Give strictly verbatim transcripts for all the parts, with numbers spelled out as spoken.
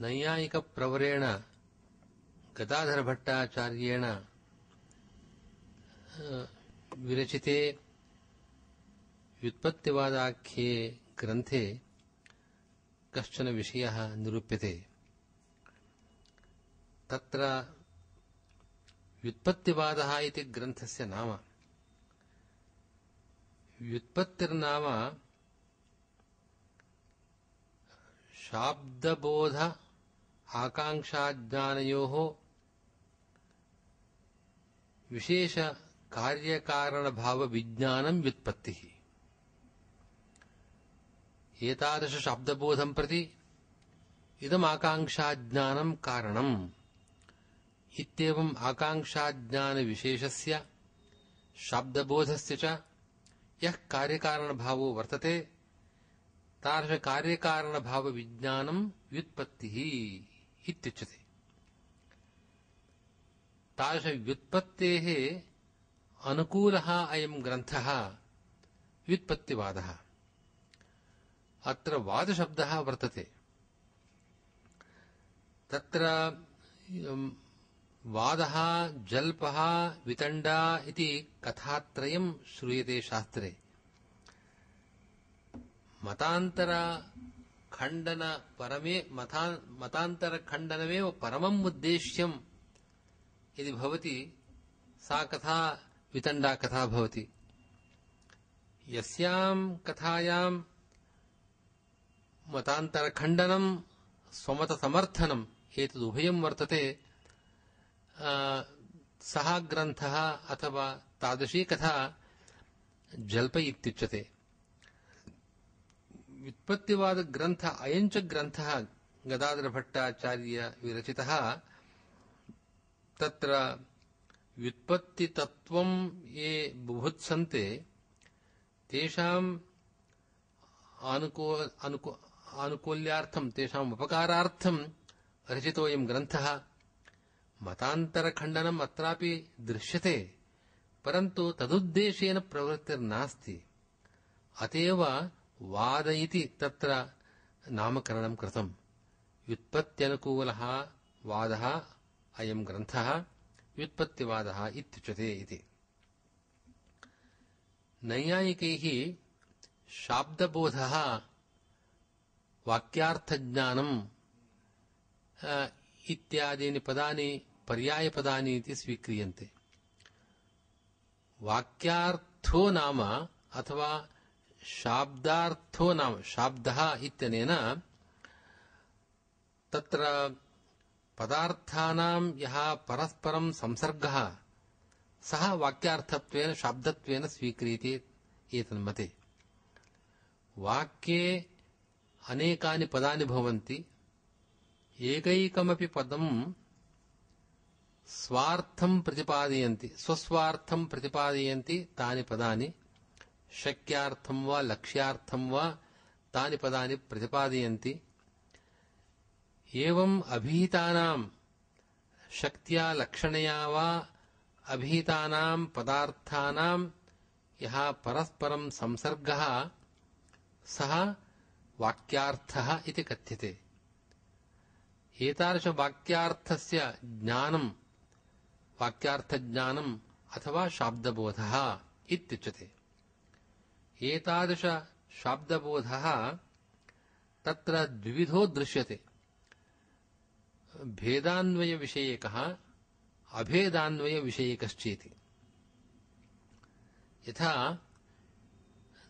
नैयायिकप्रवरेण गदाधरभट्टाचार्येण विरचिते व्युत्पत्तिवादाख्ये ग्रन्थे कश्चन विषयः निरूप्यते। तत्र व्युत्पत्तिवादः इति ग्रन्थस्य नाम। व्युत्पत्तिर्नाम शाब्दबोध आकांक्षाज्ञानयोः विशेष कार्यकारणभावविज्ञानं व्युत्पत्तिः। एतादृश शाब्दबोधं प्रति इदम् आकांक्षाज्ञानं कारणम् इत्येवम् आकांक्षाज्ञानविशेषस्य शाब्दबोधस्य च यः कार्यकारणभावो वर्तते तादृश कार्यकारणभावविज्ञानं व्युत्पत्तिः इत्युच्यते। तादृश व्युत्पत्तेः अनुकूलः अयं ग्रन्थः व्युत्पत्तिवादः। अत्र वादशब्दः वर्तते। तत्र वादः जल्पः वितण्डा इति कथात्रयं श्रूयते शास्त्रे। मतान्तरखण्डन परमे मता मतान्तरखण्डनमेव परमम् उद्देश्यम् यदि भवति सा कथा वितण्डा कथा भवति। यस्यां कथायां मतान्तरखण्डनं स्वमतसमर्थनम् एतदुभयं वर्तते सः ग्रन्थः अथवा तादृशी कथा जल्प इत्युच्यते। व्युत्पत्तिवादग्रन्थ अयञ्च ग्रन्थः गदाधरभट्टाचार्य विरचितः। तत्र व्युत्पत्तितत्त्वं ये बुभुत्सन्ते तेषाम् अनुकूल आनुकूल्यार्थं तेषाम् उपकारार्थं रचितोऽयं ग्रन्थः। मतान्तरखण्डनम् अत्रापि दृश्यते, परन्तु तदुद्देशेन प्रवृत्तिर्नास्ति। अतएव वाद इति तत्र नामकरणं कृतम्। व्युत्पत्त्यनुकूलः वादः अयं ग्रन्थः व्युत्पत्तिवादः इत्युच्यते इति। नैयायिकैः शाब्दबोधः वाक्यार्थज्ञानम् इत्यादीनि पदानि पर्यायपदानि इति स्वीक्रियन्ते। वाक्यार्थो नाम अथवा शाब्दार्थो नाम शाब्दः इत्यनेन तत्र पदार्थानां यः परस्परं संसर्गः सः वाक्यार्थत्वेन शाब्दत्वेन स्वीक्रियते एतन्मते। वाक्ये अनेकानि पदानि भवन्ति। एकैकमपि पदं स्वार्थं प्रतिपादयन्ति, स्वस्वार्थं प्रतिपादयन्ति तानि पदानि। शक्यार्थं वा लक्ष्यार्थं वा तानि पदानि प्रतिपादयन्ति। एवम् अभिहितानां शक्त्या लक्षणया वा अभिहितानां पदार्थानां यः परस्परं संसर्गः सः वाक्यार्थः इति कथ्यते। एतादृश वाक्यार्थस्य ज्ञानं वाक्यार्थज्ञानम् अथवा शाब्दबोधः इत्युच्यते। एतादृश शाब्दबोधः तत्र द्विविधो दृश्यते। भेदान्वयविषयकः अभेदान्वयविषयकश्चेति। यथा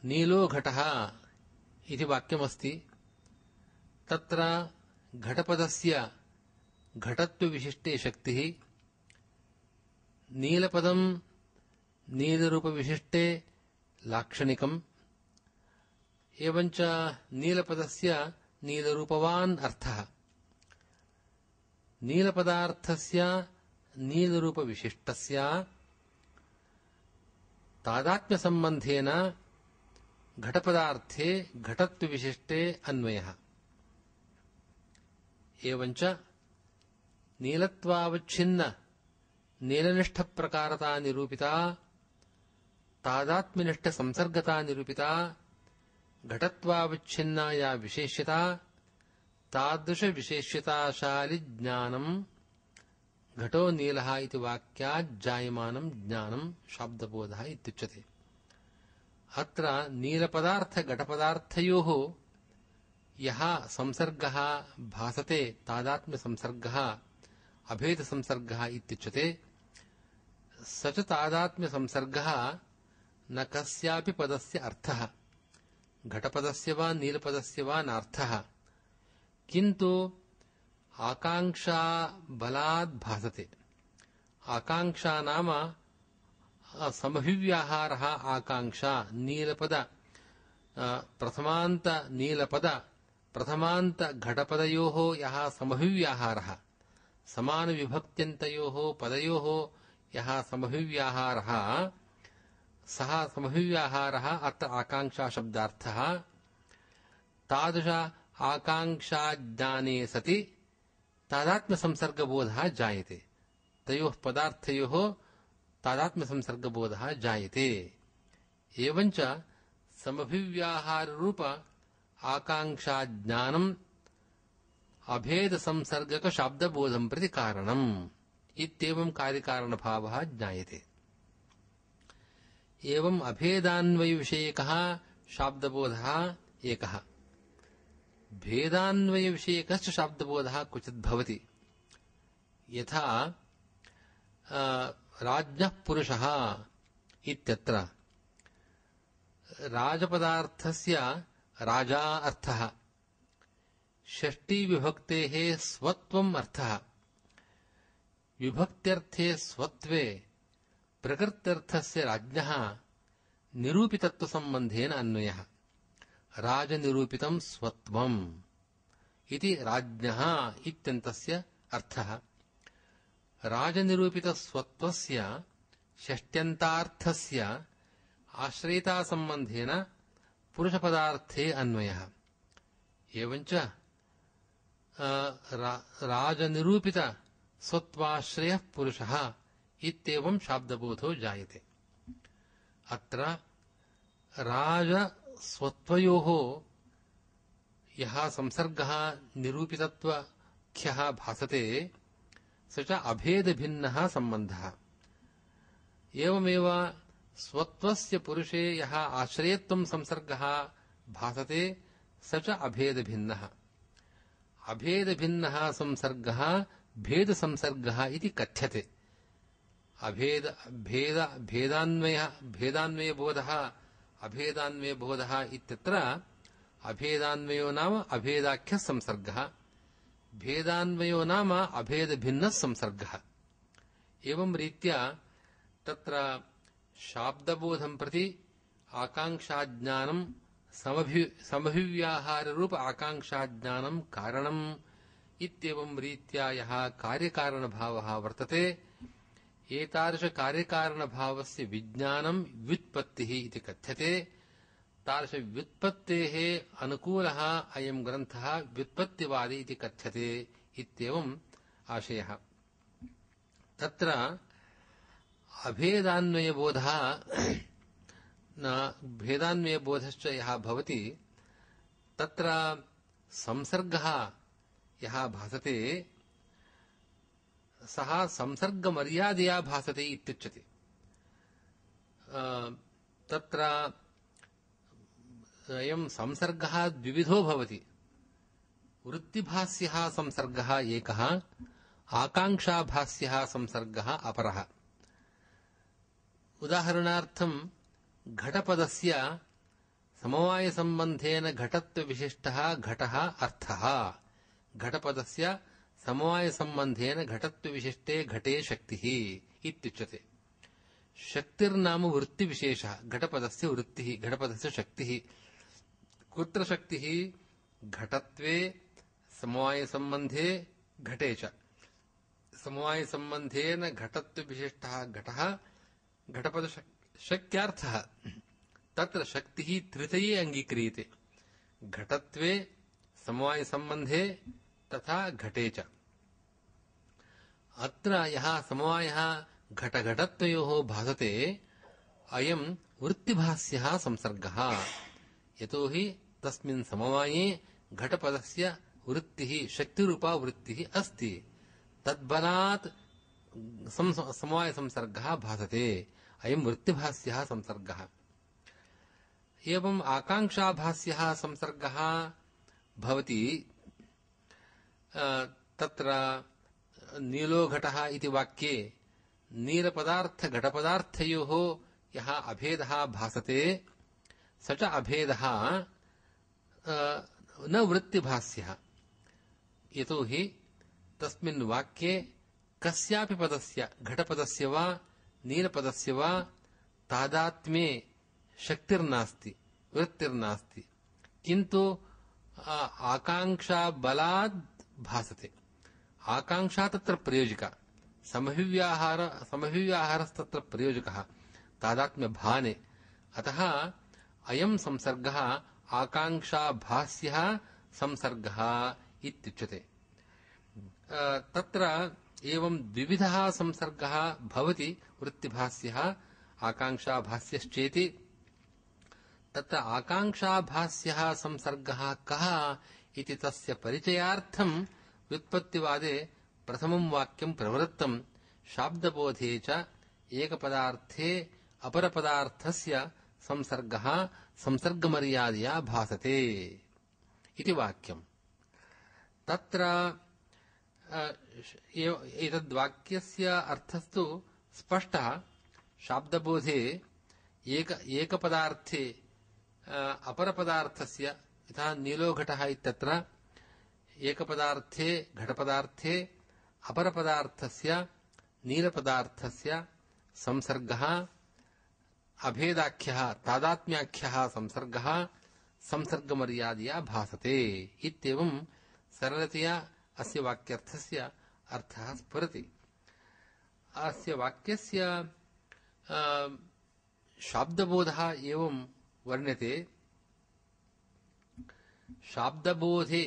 नीलो घटः इति वाक्यमस्ति। तत्र घटपदस्य घटत्वविशिष्टे शक्तिः, नीलपदं नीलरूपविशिष्टे लाक्षणिकम्, एवञ्च नीलपदस्य नीलरूपवान् अर्थः। नीलपदार्थस्य नीलरूपविशिष्टस्य तादात्म्यसम्बन्धेन घटपदार्थे घटत्वविशिष्टे अन्वयः। एवञ्च नीलत्वावच्छिन्न नीलनिष्ठप्रकारता निरूपिता तादात्म्यनिष्ठ संसर्गता निरूपिता घटत्वावच्छिन्ना या विशेष्यता तादृश विशेष्यताशालि ज्ञानम् घटो नीलः इति वाक्यात् जायमानं ज्ञानं शाब्दबोधः इत्युच्यते। अत्र नीलपदार्थ घटपदार्थयोः यः संसर्गः भासते तादात्म्य संसर्गः अभेद संसर्गः इत्युच्यते। स च तादात्म्य संसर्गः न कस्यापि पदस्य अर्थः, घटपदस्य वा नीलपदस्य वा नार्थः, किन्तु आकांक्षा बलात् भासते। आकांक्षा नाम समभिव्याहारः आकांक्षा नीलपद प्रथमान्त नीलपद प्रथमान्त घटपदयोः यः समभिव्याहारः समानविभक्त्यन्तयोः पदयोः यः समभिव्याहारः सः समभिव्याहारः अत्र आकांक्षा शब्दार्थः। तादृश आकांक्षाज्ञाने सति तादात्म्यसंसर्गबोधः जायते, तयोः पदार्थयोः तादात्म्यसंसर्गबोधः जायते। एवञ्च समभिव्याहाररूप आकांक्षाज्ञानम् अभेदसंसर्गकशाब्दबोधं प्रति कारणम् इत्येवं कार्यकारणभावः ज्ञायते। एवम् अभेदान्वयविषयकः शाब्दबोधः एकः, भेदान्वयविषयकश्च शाब्दबोधः क्वचित् भवति। यथा राज्ञः पुरुषः इत्यत्र राजपदार्थस्य राजा अर्थः, षष्टिविभक्तेः स्वत्वम् अर्थः, विभक्त्यर्थे स्वत्वे प्रकृत्यर्थस्य राज्ञः निरूपितत्वसम्बन्धेन अन्वयः। राजनिरूपितं स्वत्वम् इति राज्ञः इत्यन्तस्य अर्थः। राजनिरूपितस्वत्वस्य षष्ट्यन्तार्थस्य आश्रयितासम्बन्धेन पुरुषपदार्थे अन्वयः। एवञ्च राजनिरूपितस्वत्वाश्रयः पुरुषः इत्येवं शाब्दबोधो जायते। अत्र राजस्वत्वयोः यः संसर्गः निरूपितत्वख्यः भासते स च अभेदभिन्नः सम्बन्धः। एवमेव स्वत्वस्य पुरुषे यः आश्रयत्वं संसर्गः भासते स च अभेदभिन्नः। अभेदभिन्नः संसर्गः भेदसंसर्गः इति कथ्यते। अभेद भेद भेदान्वय भेदान्वयबोधः अभेदान्वयबोधः इत्यत्र अभेदान्वयो नाम अभेदाख्यः संसर्गः, भेदान्वयो नाम अभेदभिन्नः संसर्गः। एवं रीत्या तत्र शाब्दबोधं प्रति आकांक्षाज्ञानं समभि समभिव्याहाररूप आकांक्षाज्ञानं कारणम् इत्येवं रीत्या यः कार्यकारणभावः वर्तते एतादृशकार्यकारणभावस्य विज्ञानं व्युत्पत्तिः इति कथ्यते। तादृशव्युत्पत्तेः अनुकूलः अयं ग्रन्थः व्युत्पत्तिवादी इति कथ्यते इत्येवम् आशयः। तत्र अभेदान्वयबोधः न भेदान्वयबोधश्च यः भवति तत्र संसर्गः यः भासते सः संसर्गमर्यादया भासते इत्युच्यते। तत्र अयं संसर्गः द्विविधो भवति। वृत्तिभास्यः संसर्गः एकः, आकांक्षाभास्यः संसर्गः अपरः। उदाहरणार्थं घटपदस्य समवायसम्बन्धेन घटत्वविशिष्टः घटः अर्थः। घटपदस्य समवायसम्बन्धेन घटत्वविशिष्टे घटे शक्तिः इत्युच्यते। शक्तिर्नाम वृत्तिविशेषः, घटपदस्य वृत्तिः, घटपदस्य शक्तिः। कुत्र शक्तिः? घटत्वे, समवायसम्बन्धे, घटे च। समवायसम्बन्धेन घटत्वविशिष्टः घटः घटपदशक्त्यार्थः। तत्र शक्तिः त्रितये अङ्गीक्रियते, घटत्वे, समवायसम्बन्धे तथा घटे च। अत्र यः समवायः घटघटत्वयोः भासते अयं वृत्तिभास्यः संसर्गः यतोहि तस्मिन् समवाये घटपदस्य वृत्तिः शक्तिरूपा वृत्तिः अस्ति तद्बलात् समवाय संसर्गः भासते अयं वृत्तिभास्यः संसर्गः एवं आकांक्षाभास्यः संसर्गः भवति तत्र नीलो घटः इति वाक्ये नीलपदार्थ घटपदार्थयोः यः अभेदः भासते स च अभेदः न वृत्तिभास्यः यतोहि तस्मिन् वाक्ये कस्यापि पदस्य घटपदस्य वा नीलपदस्य वा तादात्म्ये शक्तिर्नास्ति वृत्तिर्नास्ति किन्तु आकांक्षा बलात् भासते आकांक्षा तत्र प्रयोजका समभिव्याहार समभिव्याहारस्तत्र प्रयोजकः तादात्म्यभाने अतः अयं संसर्गः आकांक्षाभास्यः संसर्गः इत्युच्यते तत्र एवं द्विविधः संसर्गः भवति वृत्तिभास्यः आकांक्षाभास्यश्चेति तत्र आकांक्षाभास्यः संसर्गः कः इति तस्य परिचयार्थं व्युत्पत्तिवादे प्रथमं वाक्यं प्रवृत्तं शाब्दबोधे च एकपदार्थे अपरपदार्थस्य संसर्गः संसर्गमर्यादया भासते इति वाक्यं तत्र एतद्वाक्यस्य अर्थस्तु स्पष्टः शाब्दबोधे एक एकपदार्थे अपरपदार्थस्य यथा नीलो घटः इत्यत्र एकपदार्थे घटपदार्थे अपरपदार्थस्य नीलपदार्थस्य संसर्गः अभेदाख्यः तादात्म्याख्यः संसर्गः संसर्गमर्यादया भासते इत्येवं सरलतया अस्य वाक्यार्थस्य अर्थः स्फुरति अस्य वाक्यस्य शाब्दबोधः एवं वर्ण्यते शाब्दबोधे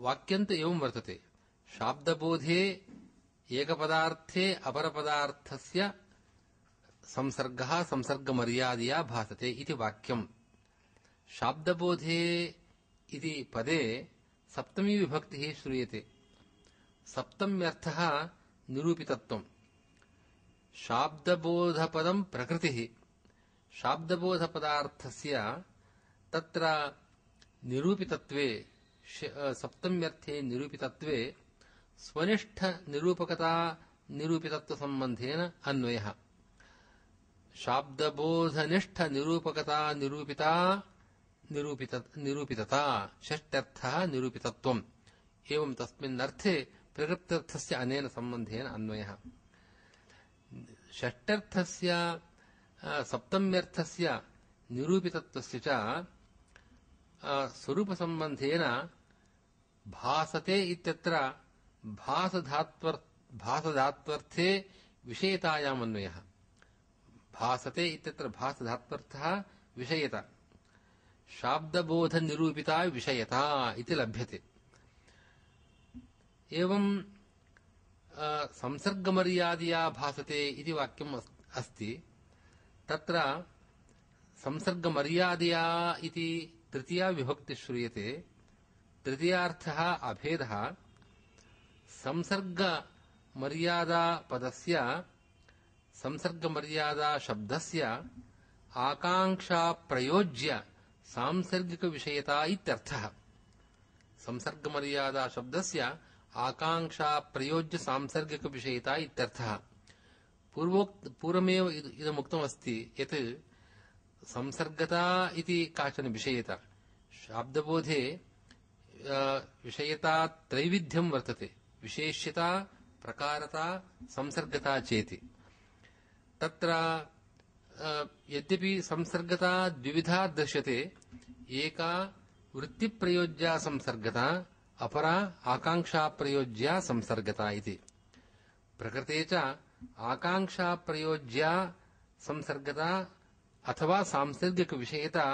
वाक्यन्त एवं वर्तते शाब्दबोधे एकपदार्थे अपरपदार्थस्य संसर्गः संसर्गमर्यादया भासते इति वाक्यं शाब्दबोधे इति पदे सप्तमी विभक्तिः श्रूयते सप्तम्यर्थः निरूपितत्वं शाब्दबोधपदं प्रकृतिः शाब्दबोधपदार्थस्य तत्र निरूपितत्वे सप्तम्यर्थे निरूपितत्वे स्वनिष्ठ निरूपकता निरूपितत्वसम्बन्धेन अन्वयः शाब्दबोधनिष्ठ निरूपकता निरूपिता निरूपित निरूपितता षष्ट्यर्थः निरूपितत्वम् एवं तस्मिन् अर्थे प्रकृत्यर्थस्य अनेन सम्बन्धेन अन्वयः षष्ट्यर्थस्य सप्तम्यर्थस्य निरूपितत्वस्य च स्वरूपसम्बन्धेन भासते इत्यत्र भासधात्वर् भासधात्वर्थे विषयतायाम् अन्वयः भासते इत्यत्र भासधात्वर्थः विषयता शाब्दबोधनिरूपिता विषयता इति लभ्यते एवं संसर्गमर्यादया भासते इति वाक्यम् अस्ति तत्र संसर्गमर्यादया इति तृतीया विभक्ति श्रूयते तृतीयार्थः अभेदः संसर्गमर्यादा पदस्य संसर्गमर्यादा शब्दस्य आकांक्षा प्रयोज्य सांसर्गिकविषयता इत्यर्थः संसर्गमर्यादा शब्दस्य आकांक्षा प्रयोज्य सांसर्गिकविषयता इत्यर्थः पूर्वोक्त पूर्वमेव इदमुक्तमस्ति यत् संसर्गता इति काचन विषयता शाब्दबोधे विषयता त्रैविध्यं वर्तते विशेष्यता प्रकारता संसर्गता चेति तत्र यद्यपि संसर्गता द्विविधा दृश्यते एका वृत्तिप्रयोज्या संसर्गता अपरा आकांक्षाप्रयोज्या संसर्गता इति प्रकृते च आकांक्षाप्रयोज्या संसर्गता अथवा सांसर्गिकविषयता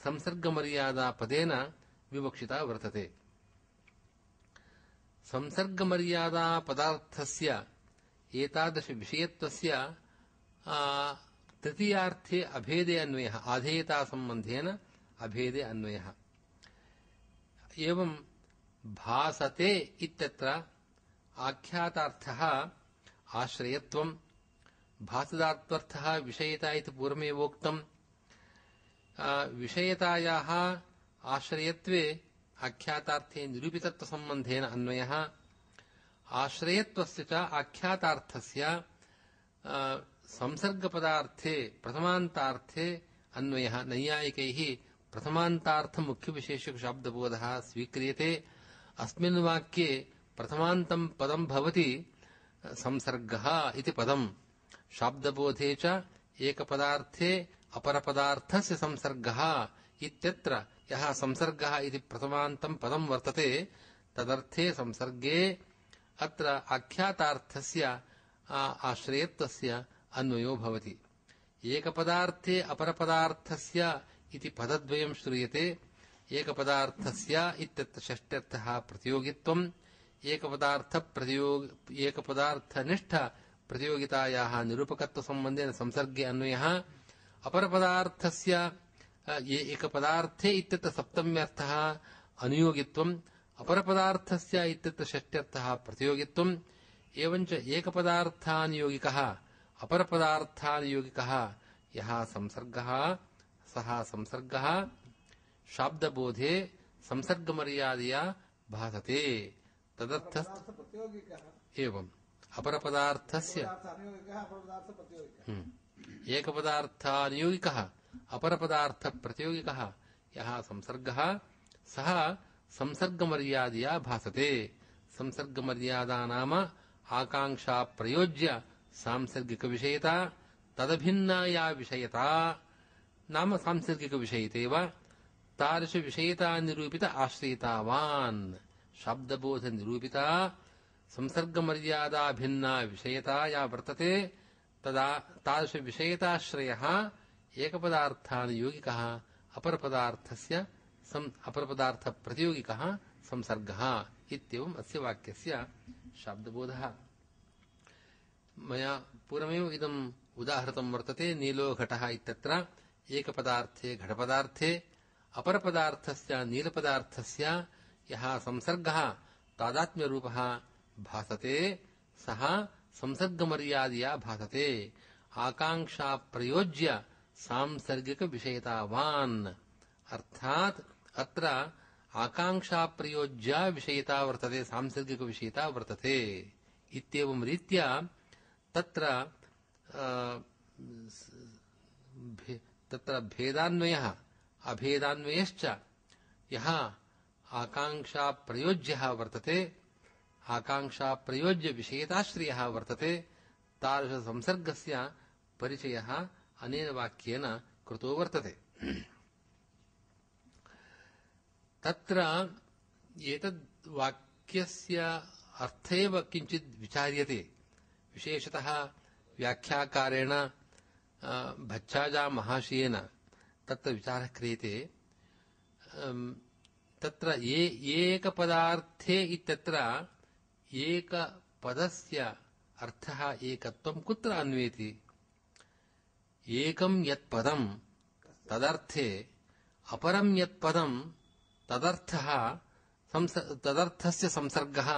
संसर्गमर्यादा पदेन विवक्षिता वर्तते संसर्गमर्यादा पदार्थस्य एतादृश विषयत्वस्य तृतीयार्थे अभेदे अन्वयः आधेयतासम्बन्धेन अभेदे अन्वयः। एवं भासते इत्यत्र आख्यातार्थः आश्रयत्वं, भासदात्वर्थः विषयता इति पूर्वमेवोक्तम्। विषयतायाः आश्रयत्वे आख्यातार्थे निरूपितत्वसम्बन्धेन अन्वयः, आश्रयत्वस्य च आख्यातार्थस्य संसर्गपदार्थे प्रथमान्तार्थे अन्वयः। नैयायिकैः प्रथमान्तार्थ मुख्यविशेषक शाब्दबोधः स्वीक्रियते। अस्मिन् वाक्ये प्रथमान्तं पदं भवति संसर्गः इति पदम्। शाब्दबोधे च एकपदार्थे अपरपदार्थस्य संसर्गः इत्यत्र यः संसर्गः इति प्रथमान्तं पदं वर्तते तदर्थे संसर्गे अत्र आख्यातार्थस्य आश्रयत्वस्य अन्वयो भवति। एकपदार्थे अपरपदार्थस्य इति पदद्वयं श्रूयते। एकपदार्थस्य इत्यत्र षष्ट्यर्थः प्रतियोगित्वम्, एकपदार्थ प्रतियोग एकपदार्थनिष्ठ प्रतियोगितायाः निरूपकत्वसम्बन्धेन संसर्गे अन्वयः। अपरपदार्थस्य एकपदार्थे इत्यत्र सप्तम्यर्थः अनुयोगित्वम्, अपरपदार्थस्य इत्यत्र षष्ट्यर्थः प्रतियोगित्वम्। एवञ्च एकपदार्थानुयोगिकः अपरपदार्थानुयोगिकः यः संसर्गः सः संसर्गः शाब्दबोधे संसर्गमर्यादया भासते तदर्थ एवं अपरपदार्थस्य एकपदार्थानुयोगिकः अपरपदार्थप्रतियोगिकः यः संसर्गः सः संसर्गमर्यादया भासते। संसर्गमर्यादा नाम आकांक्षा प्रयोज्य सांसर्गिकविषयता, तदभिन्ना या विषयता नाम सांसर्गिकविषयितेव तादृशविषयता निरूपित आश्रयितावान्। शाब्दबोधनिरूपिता संसर्गमर्यादा भिन्ना विषयता या वर्तते तदा तादृशविषयताश्रयः एकपदार्थानुयोगिकः अपरपदार्थस्य अपरपदार्थप्रतियोगिकः संसर्गः इत्येवम् अस्य वाक्यस्य शाब्दबोधः। मया पूर्वमेव इदम् उदाहृतं वर्तते। नीलो घटः इत्यत्र एकपदार्थे घटपदार्थे अपरपदार्थस्य नीलपदार्थस्य यः संसर्गः तादात्म्यरूपः भासते सः संसर्गमर्यादया भासते। आकांक्षा प्रयोज्य सांसर्गिकविषयतावान् अर्थात् अत्र आकांक्षा प्रयोज्या विषयता वर्तते, सांसर्गिकविषयता वर्तते इत्येवं रीत्या तत्र तत्र भेदान्वयः अभेदान्वयश्च यः आकांक्षा प्रयोज्यः वर्तते, आकांक्षा प्रयोज्य विषयताश्रयः वर्तते, तादृशसंसर्गस्य परिचयः अनेन वाक्येन कृतो वर्तते। तत्र एतद् वाक्यस्य अर्थ एव किञ्चित् विचार्यते। विशेषतः व्याख्याकारेण भच्छाजामहाशयेन तत्र विचारः क्रियते। तत्र एकपदार्थे इत्यत्र एकपदस्य अर्थः एकत्वं कुत्र अन्वेति? एकं यत्पदं तदर्थे अपरं यत्पदं तदर्थः तदर्थस्य संसर्गः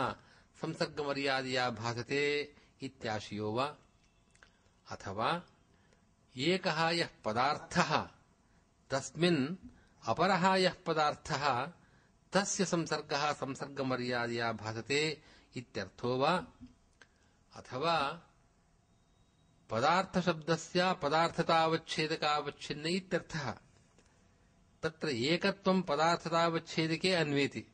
संसर्गमर्यादया भासते इत्याशयो वा? अथवा एकः यः पदार्थः तस्मिन् अपरः यः पदार्थः तस्य संसर्गः संसर्गमर्यादया भासते इत्यर्थो वा? अथवा पदार्थशब्दस्य पदार्थतावच्छेदकावच्छिन्न इत्यर्थः। तत्र एकत्वं पदार्थतावच्छेदके अन्वेति।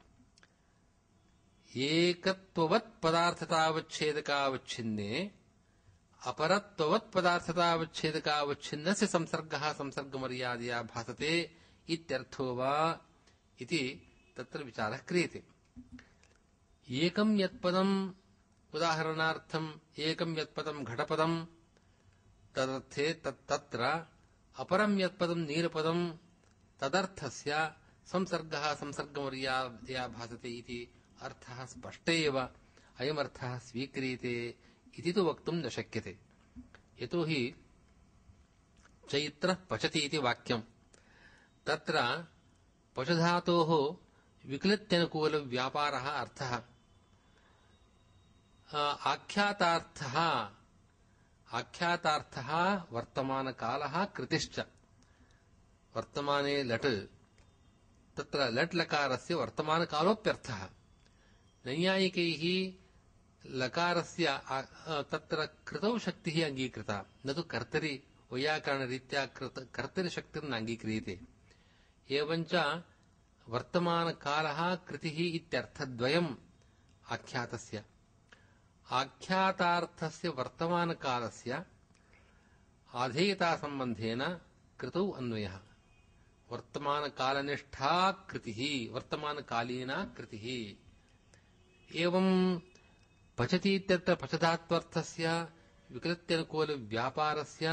एकत्ववत् पदार्थतावच्छेदकावच्छिन्ने अपरत्ववत् पदार्थतावच्छेदकावच्छिन्नस्य संसर्गः संसर्गमर्यादया भासते इत्यर्थो वा इति तत्र विचारः क्रियते। एकं यत्पदम् उदाहरणार्थम् एकं यत्पदं घटपदं तदर्थे तत्र अपरं यत्पदं नीलपदं तदर्थस्य संसर्गः संसर्गमर्यादया भासते इति अर्थः स्पष्ट एव अयमर्थः स्वीक्रियते इति तु वक्तुं न शक्यते। यतोहि चैत्रः पचति इति वाक्यम्। तत्र पचधातोः विक्लित्यनुकूलव्यापारः अर्थः। आख्यातार्थः आख्यातार्थः वर्तमानकालः कृतिश्च। वर्तमाने लट्, तत्र लट् लकारस्य वर्तमानकालोऽप्यर्थः। नैयायिकैः लकारस्य तत्र कृतौ शक्तिः अङ्गीकृता, न तु कर्तरि वैयाकरणरीत्या कर्तरिशक्तिर्न अङ्गीक्रियते। एवञ्च वर्तमानकालः कृतिः इत्यर्थद्वयम् आख्यातस्य। आख्यातार्थस्य वर्तमानकालस्य आधेयतासम्बन्धेन कृतौ अन्वयः। वर्तमानकालनिष्ठा कृतिः, वर्तमानकालीना कृतिः। एवं पचति इत्यत्र पचधात्वर्थस्य विकृत्यनुकूलव्यापारस्य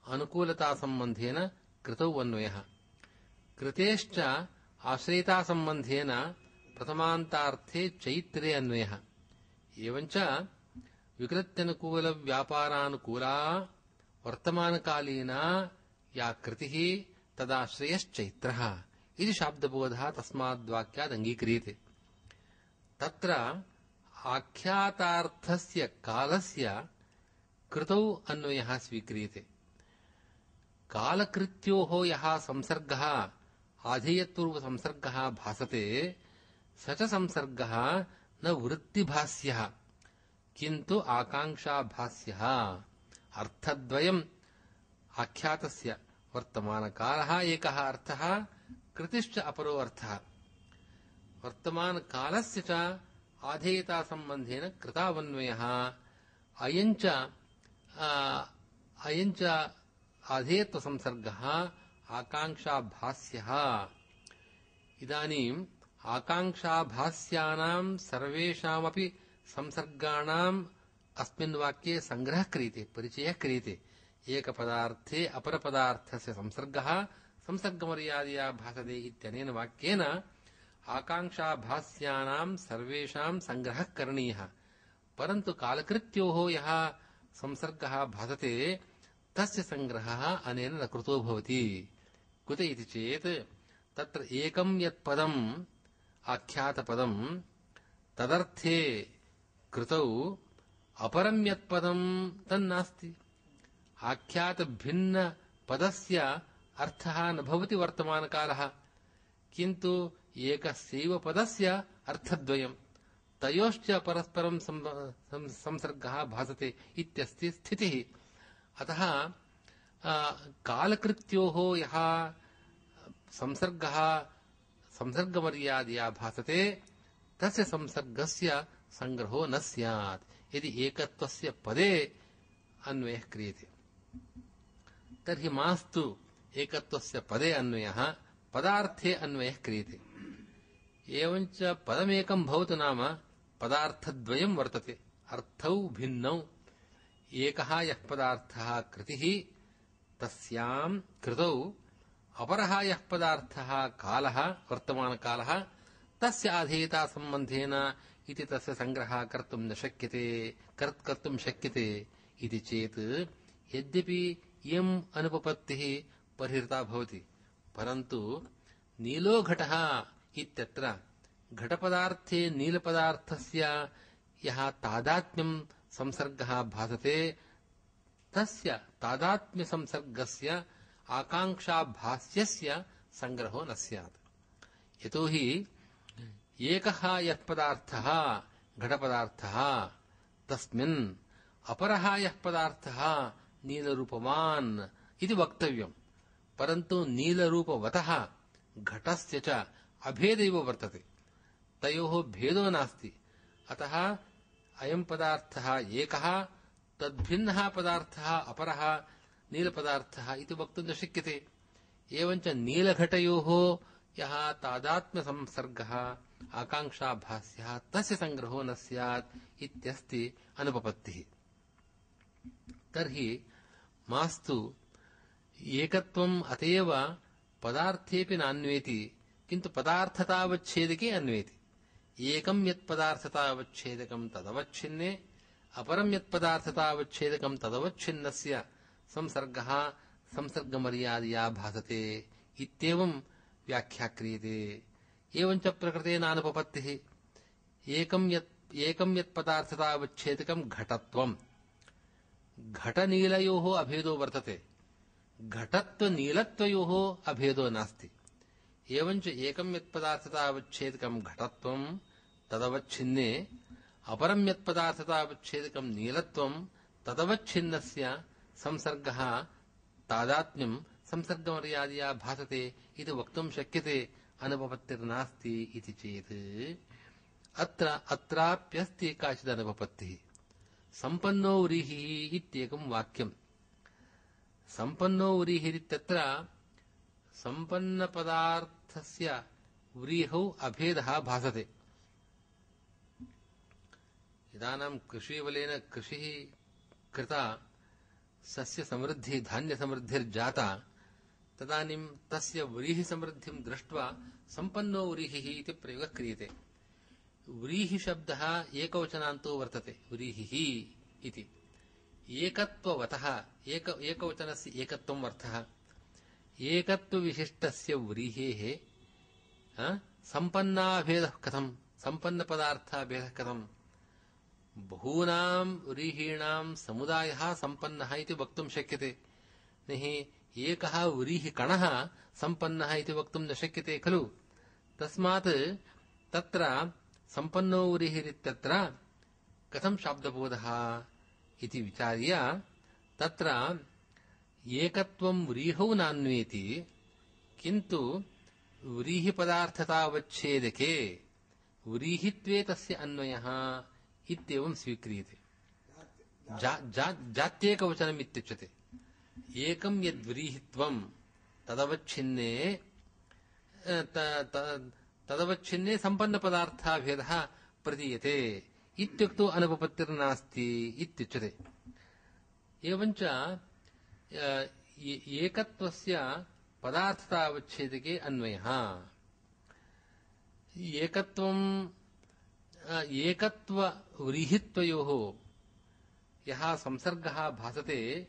अनुकूलतासम्बन्धेन कृतौ अन्वयः। कृतेश्च आश्रयितासम्बन्धेन प्रथमान्तार्थे चैत्रे अन्वयः। एवञ्च विकृत्यनुकूलव्यापारानुकूला वर्तमानकालीना या कृतिः तदाश्रयश्चैत्रः इति शाब्दबोधः तस्माद्वाक्यादङ्गीक्रियते। तत्र आख्यातार्थस्य कालस्य कृतौ अन्वयः स्वीक्रियते। कालकृत्योः यः संसर्गः आधेयत्वरूपसंसर्गः भासते स च संसर्गः न वृत्तिभास्यः किन्तु आकाङ्क्षाभास्यः। अर्थद्वयम् आख्यातस्य। वर्तमानकालः एकः अर्थः, कृतिश्च अपरो अर्थः। वर्तमानकालस्य च आधेयतासम्बन्धेन कृतावन्वयः। अयञ्च अयञ्च आधेयत्वसंसर्गः आकाङ्क्षाभास्यः। इदानीम् आकाङ्क्षाभास्यानां सर्वेषामपि संसर्गाणाम् अस्मिन् वाक्ये सङ्ग्रहः क्रियते, परिचयः क्रियते। एकपदार्थे अपरपदार्थस्य संसर्गः संसर्गमर्यादया भासते इत्यनेन वाक्येन आकाङ्क्षाभास्यानां सर्वेषां सङ्ग्रहः करणीयः। परन्तु कालकृत्योः यः संसर्गः भासते तस्य सङ्ग्रहः अनेन न कृतो भवति। कुत इति चेत् तत्र एकं यत् पदम् आख्यातपदम् तदर्थे कृतौ अपरं यत् पदम् तन्नास्ति। आख्यातभिन्नपदस्य अर्थः न भवति वर्तमानकालः, किन्तु एकस्यैव पदस्य अर्थद्वयम्, तयोश्च परस्परं संसर्गः भासते इत्यस्ति स्थितिः। अतः कालकृत्योः यः संसर्गः संसर्गमर्यादया भासते तस्य संसर्गस्य सङ्ग्रहो न स्यात् यदि एकत्वस्य पदे अन्वयः क्रियते। तर्हि मास्तु एकत्वस्य पदे अन्वयः, पदार्थे अन्वयः क्रियते। एवञ्च पदमेकं भवतु नाम पदार्थद्वयं वर्तते, अर्थौ भिन्नौ। एकः यः पदार्थः कृतिः तस्यां कृतौ, अपरः यः पदार्थः कालः वर्तमानकालः तस्य आधेयतासम्बन्धेन इति तस्य सङ्ग्रहः कर्तुं न शक्यते कर्तुं शक्यते इति चेत् यद्यपि इयम् अनुपपत्तिः परिहृता भवति, परन्तु नीलो घटः इत्यत्र घटपदार्थे नीलपदार्थस्य यः तादात्म्यं संसर्गः भासते तस्य तादात्म्यसंसर्गस्य आकाङ्क्षाभास्यस्य सङ्ग्रहो न स्यात्। यतोहि एकः यः पदार्थः घटपदार्थः तस्मिन् अपरः यः पदार्थः नीलरूपवान् इति वक्तव्यम्, परन्तु नीलरूपवतः घटस्य च अभेदैव वर्तते, तयोः भेदो नास्ति। अतः अयं पदार्थः एकः, तद्भिन्नः पदार्थः अपरः नीलपदार्थः इति वक्तुं न शक्यते। एवञ्च नीलघटयोः यः तादात्म्यसंसर्गः आकाङ्क्षाभास्यः तस्य सङ्ग्रहो न स्यात् इत्यस्ति अनुपपत्तिः। तर्हि मास्तु एकत्वम् अतएव पदार्थेऽपि नान्वेति, किन्तु पदार्थतावच्छेदके अन्वेति। एकं यत्पदार्थतावच्छेदकं तदवच्छिन्ने, अपरं यत्पदार्थतावच्छेदकं तदवच्छिन्नस्य संसर्गः संसर्गमर्यादया भासते इत्येवं व्याख्या क्रियते। एवञ्च प्रकृतेनानुपपत्तिः एकं यत् एकं यत् पदार्थतावच्छेदकं घटत्वम्। घटनीलयोः अभेदो वर्तते, घटत्वनीलत्वयोः अभेदो नास्ति। एवञ्च एकं यत् पदार्थतावच्छेदकं घटत्वं तदवच्छिन्ने अपरं यत् पदार्थतावच्छेदकं नीलत्वं तदवच्छिन्नस्य संसर्गः तादात्म्यं संसर्गमर्यादया भासते इति वक्तुं शक्यते, अनुपपत्तिर्नास्ति इति चेत् अत्र अत्राप्यस्ति काचित् अनुपपत्तिः। सम्पन्नो व्रीहिः इत्येकं वाक्यम्। सम्पन्नो व्रीहिः इत्यत्र सम्पन्नपदार्थस्य व्रीहौ अभेदः भासते। इदानीं कृषिबलेन कृषिः कृता, सस्यसमृद्धिः धान्यसमृद्धिर्जाता, तदानीं तस्य व्रीहिसमृद्धिं दृष्ट्वा सम्पन्नो व्रीहिः इति प्रयोगः क्रियते। व्रीहिशब्दः एकवचनान्तो वर्तते, व्रीहिः इति। एकत्ववतः एक एकवचनस्य एकत्वम् अर्थः। एकत्वविशिष्टस्य व्रीहेः सम्पन्नाभेदः कथम्, सम्पन्नपदार्थाभेदः कथम्? बहूनां व्रीहीणां समुदायः सम्पन्नः इति वक्तुं शक्यते। न हि एकः व्रीहिकणः सम्पन्नः इति वक्तुं न शक्यते खलु। तस्मात् तत्र सम्पन्नो व्रीहिरित्यत्र कथं शाब्दबोधः इति विचार्य तत्र एकत्वं व्रीहौ नान्वेति, किन्तु व्रीहिपदार्थतावच्छेदके व्रीहित्वे तस्य अन्वयः इत्येवं स्वीक्रियते। जा, जा, जात्येकवचनम् इत्युच्यते। एकं यद्व्रीहित्वं तदवच्छिन्ने तदवच्छिन्ने सम्पन्नपदार्थाभेदः प्रतीयते इत्युक्तौ अनुपपत्तिर्नास्ति इत्युच्यते। एवञ्च एकत्वस्य पदार्थतावच्छेदके अन्वयः। एकत्वं एकत्वव्रीहित्वयोः यः संसर्गः भासते,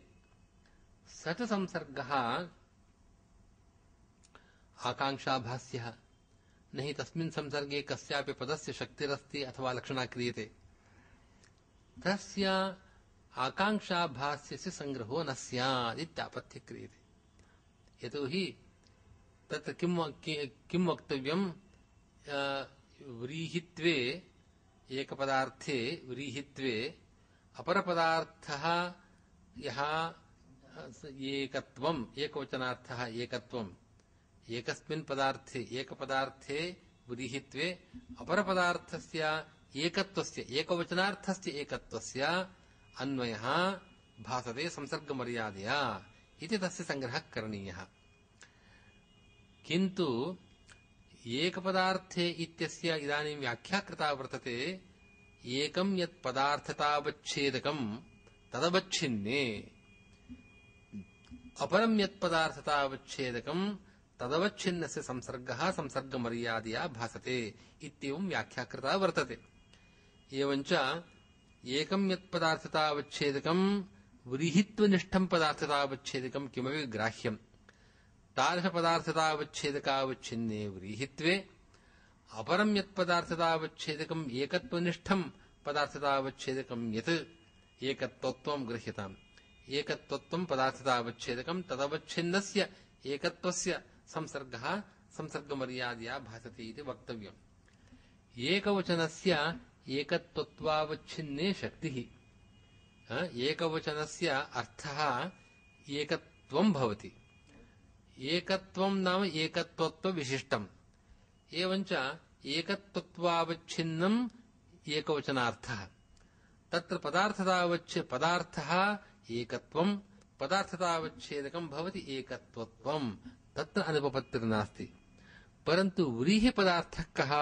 स च संसर्गः आकाङ्क्षाभास्यः। न हि तस्मिन् संसर्गे कस्यापि पदस्य शक्तिरस्ति अथवा लक्षणा क्रियते। तस्य आकाङ्क्षाभास्यस्य संग्रहो न स्यात् इत्यापत्तिः क्रियते। यतोहि तत्र किं किं वक्तव्यं, व्रीहित्वे एकपदार्थे व्रीहित्वे अपरपदार्थः यः एकत्वम्, एकवचनार्थः एकत्वम्, एकस्मिन् पदार्थे एकपदार्थे व्रीहित्वे अपरपदार्थस्य एकत्वस्य एकवचनार्थस्य एकत्वस्य अन्वयः भासते संसर्गमर्यादया इति तस्य संग्रहः करणीयः। किन्तु एकपदार्थे इत्यस्य इदानीं व्याख्या कृता वर्तते। एकं यत् पदार्थतावच्छेदकं तदवच्छिन्ने अपरं यत् पदार्थतावच्छेदकं तदवच्छिन्नस्य संसर्गः संसर्गमर्यादया भासते इत्येवं व्याख्या कृता वर्तते। एवञ्च एकं यत् पदार्थतावच्छेदकं व्रीहित्वनिष्ठं पदार्थतावच्छेदकं किमपि ग्राह्यम्। तादृशपदार्थतावच्छेदकावच्छिन्ने व्रीहित्वे अपरं यत् पदार्थतावच्छेदकम् एकत्वनिष्ठं पदार्थतावच्छेदकं यत् एकत्वत्वं गृह्यताम्। एकत्वत्वं पदार्थतावच्छेदकं तदवच्छिन्नस्य एकत्वस्य संसर्गः संसर्गमर्यादया भासते इति वक्तव्यम्। एकवचनस्य एकत्वत्वावच्छिन्ने शक्तिः, एकवचनस्य अर्थः एकत्वं भवति। एकत्वं नाम एकत्वत्वविशिष्टम्। एवञ्च एकत्वत्वावच्छिन्नम् एकवचनार्थः। तत्र पदार्थतावच्छ पदार्थः एकत्वं, पदार्थतावच्छेदकं भवति एकत्वत्वं, तत्र अनुपपत्तिर्नास्ति। परन्तु व्रीहिपदार्थः कः?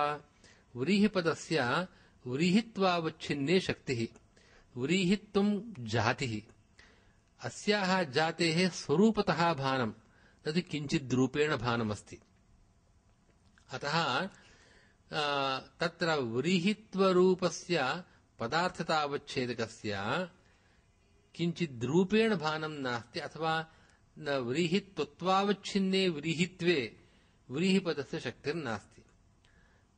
व्रीहिपदस्य व्रीहित्वावच्छिन्ने शक्तिः, व्रीहित्वं जातिः। अस्याः जातेः स्वरूपतः भानं, तद् किञ्चिद्रूपेण भानमस्ति। अतः तत्र व्रीहित्वरूपस्य पदार्थतावच्छेदकस्य किञ्चिद्रूपेण भानं नास्ति, अथवा न व्रीहित्वत्वावच्छिन्ने व्रीहित्वे व्रीहिपदस्य शक्तिर्नास्ति।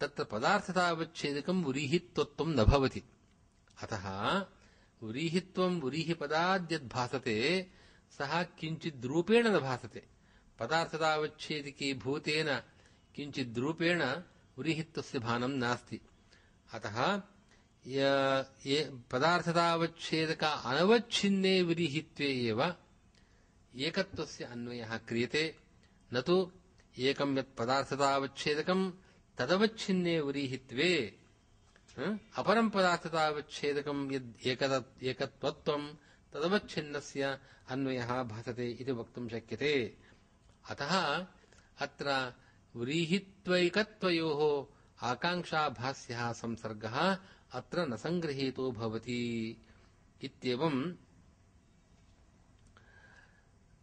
तत्र पदार्थतावच्छेदकं व्रीहित्वत्वं न भवति। अतः व्रीहित्वं व्रीहिपदाद्यद्भासते सः किञ्चिद्रूपेण न भासते। पदार्थतावच्छेदिके भूतेन किञ्चिद्रूपेण व्रीहित्वस्य भानं नास्ति। अतः पदार्थतावच्छेदक अनवच्छिन्ने व्रीहित्वे एव एकत्वस्य अन्वयः क्रियते, न तु एकं यत् पदार्थतावच्छेदकं तदवच्छिन्ने व्रीहित्वे अपरं पदार्थतावच्छेदकं यद् एकत्वत्वं तदवच्छिन्नस्य अन्वयः भासते इति वक्तुं शक्यते। अतः अत्र व्रीहित्वैकत्वयोः आकाङ्क्षाभास्यः संसर्गः अत्र न सङ्गृहीतो भवति इत्येवं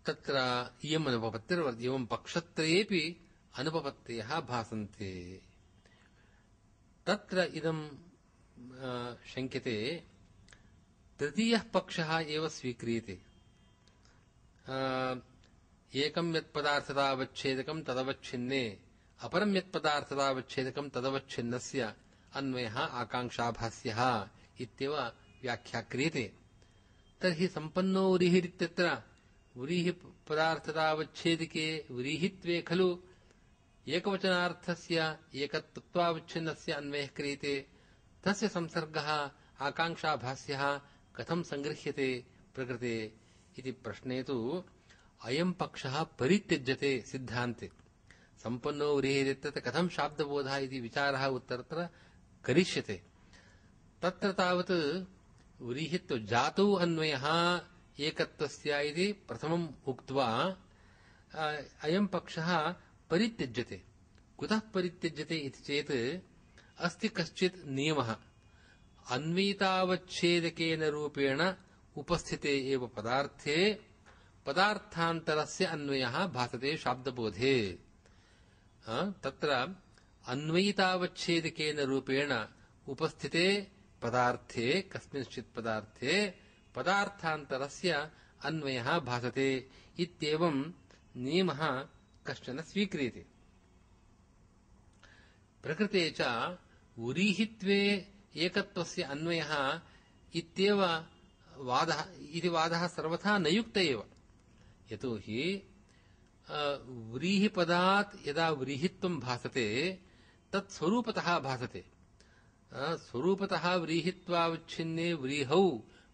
तत्र इयम् अनुपपत्तिर्वर्तते। एवं पक्षत्रयेऽपि अनुपपत्तयः भासन्ते। तत्र इदं शङ्क्यते तृतीयः पक्षः एव स्वीक्रियते। एकं यत् पदार्थतावच्छेदकं तदवच्छिन्ने अपरं यत् पदार्थतावच्छेदकं तदवच्छिन्नस्य अन्वयः आकाङ्क्षाभास्यः इत्येव व्याख्या क्रियते। तर्हि सम्पन्नो व्रीहिरित्यत्र व्रीहि पदार्थतावच्छेदिके व्रीहित्वे खलु एकवचनार्थस्य एकत्वावच्छिन्नस्य अन्वयः क्रियते। तस्य संसर्गः आकाङ्क्षाभास्यः कथं सङ्गृह्यते प्रकृते इति प्रश्ने तु अयं पक्षः परित्यज्यते सिद्धान्ते। सम्पन्नो व्रीहिरित्यत्र कथं शाब्दबोधः इति विचारः उत्तरत्र करिष्यते। तत्र तावत् व्रीहित्व जातौ अन्वयः एकत्वस्य इति प्रथमम् उक्त्वा अयं पक्षः परित्यज्यते। कुतः परित्यज्यते इति चेत् अस्ति कश्चित् नियमः। अन्वितावच्छेदकेन रूपेण उपस्थिते एव पदार्थे पदार्थान्तरस्य अन्वयः भासते शाब्दबोधे। तत्र अन्वयितावच्छेदकेन रूपेण उपस्थिते पदार्थे कस्मिंश्चित् पदार्थे पदार्थान्तरस्य अन्वयः भासते इत्येवं नियमः कश्चन स्वीक्रियते। प्रकृते च व्रीहित्वे एकत्वस्य अन्वयः इत्येव वादः इति वादः सर्वथा न युक्त एव। यतोहि व्रीहिपदात् यदा व्रीहित्वं भासते तत् स्वरूपतः भासते। स्वरूपतः व्रीहित्वावच्छिन्ने व्रीहौ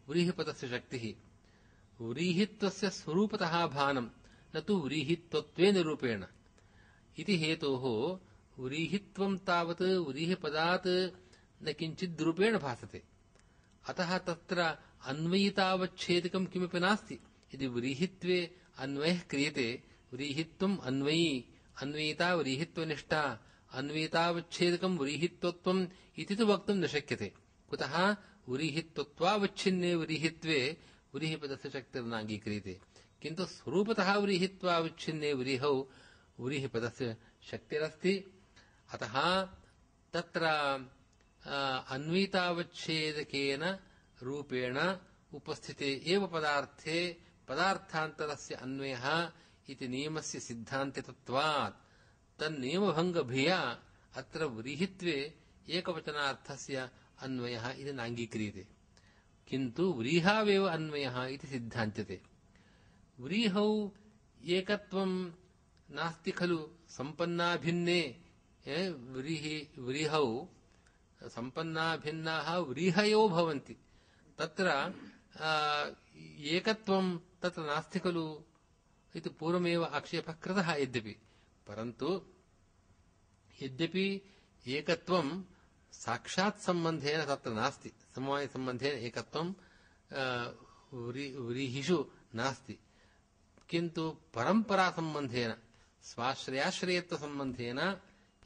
व्रीहिपदस्य शक्तिः। व्रीहित्वस्य स्वरूपतः भानं न तु व्रीहित्वत्वेन रूपेण इति हेतोः व्रीहित्वं तावत् व्रीहिपदात् न किञ्चित् रूपेण भासते। अतः तत्र अन्वयितावच्छेदकं किमपि नास्ति। यदि व्रीहित्वे अन्वयः क्रियते व्रीहित्वम् अन्वयी अन्वयिता व्रीहित्वनिष्ठा अन्वयितावच्छेदकं व्रीहित्वत्वम् इति तु वक्तुं न शक्यते। कुतः व्रीहित्वत्वावच्छिन्ने व्रीहित्वे व्रीहिपदस्य शक्तिर्नाङ्गीक्रियते। किन्तु स्वरूपतः व्रीहित्वावच्छिन्ने व्रीहौ व्रीहिपदस्य शक्तिरस्ति। अतः तत्र अन्वितावच्छेदकेन रूपेण उपस्थिते एव पदार्थे पदार्थान्तरस्य अन्वयः इति नियमस्य सिद्धान्तितत्वात् तन्नियमभङ्गभिया अत्र व्रीहित्वे एकवचनार्थस्य अन्वयः इति नाङ्गीक्रियते। किन्तु व्रीहावेव अन्वयः इति सिद्धान्त्यते। व्रीहौ एकत्वं नास्ति खलु। सम्पन्नाभिन्ने व्रीहि व्रीहौ सम्पन्नाभिन्नाः व्रीहयो भवन्ति। तत्र एकत्वं तत्र नास्ति खलु इति पूर्वमेव आक्षेपः कृतः। यद्यपि परन्तु यद्यपि एकत्वं साक्षात् सम्बन्धेन तत्र नास्ति। समवायसम्बन्धेन एकत्वं व्रीहिषु नास्ति। किन्तु परम्परासम्बन्धेन स्वाश्रयाश्रयत्वसम्बन्धेन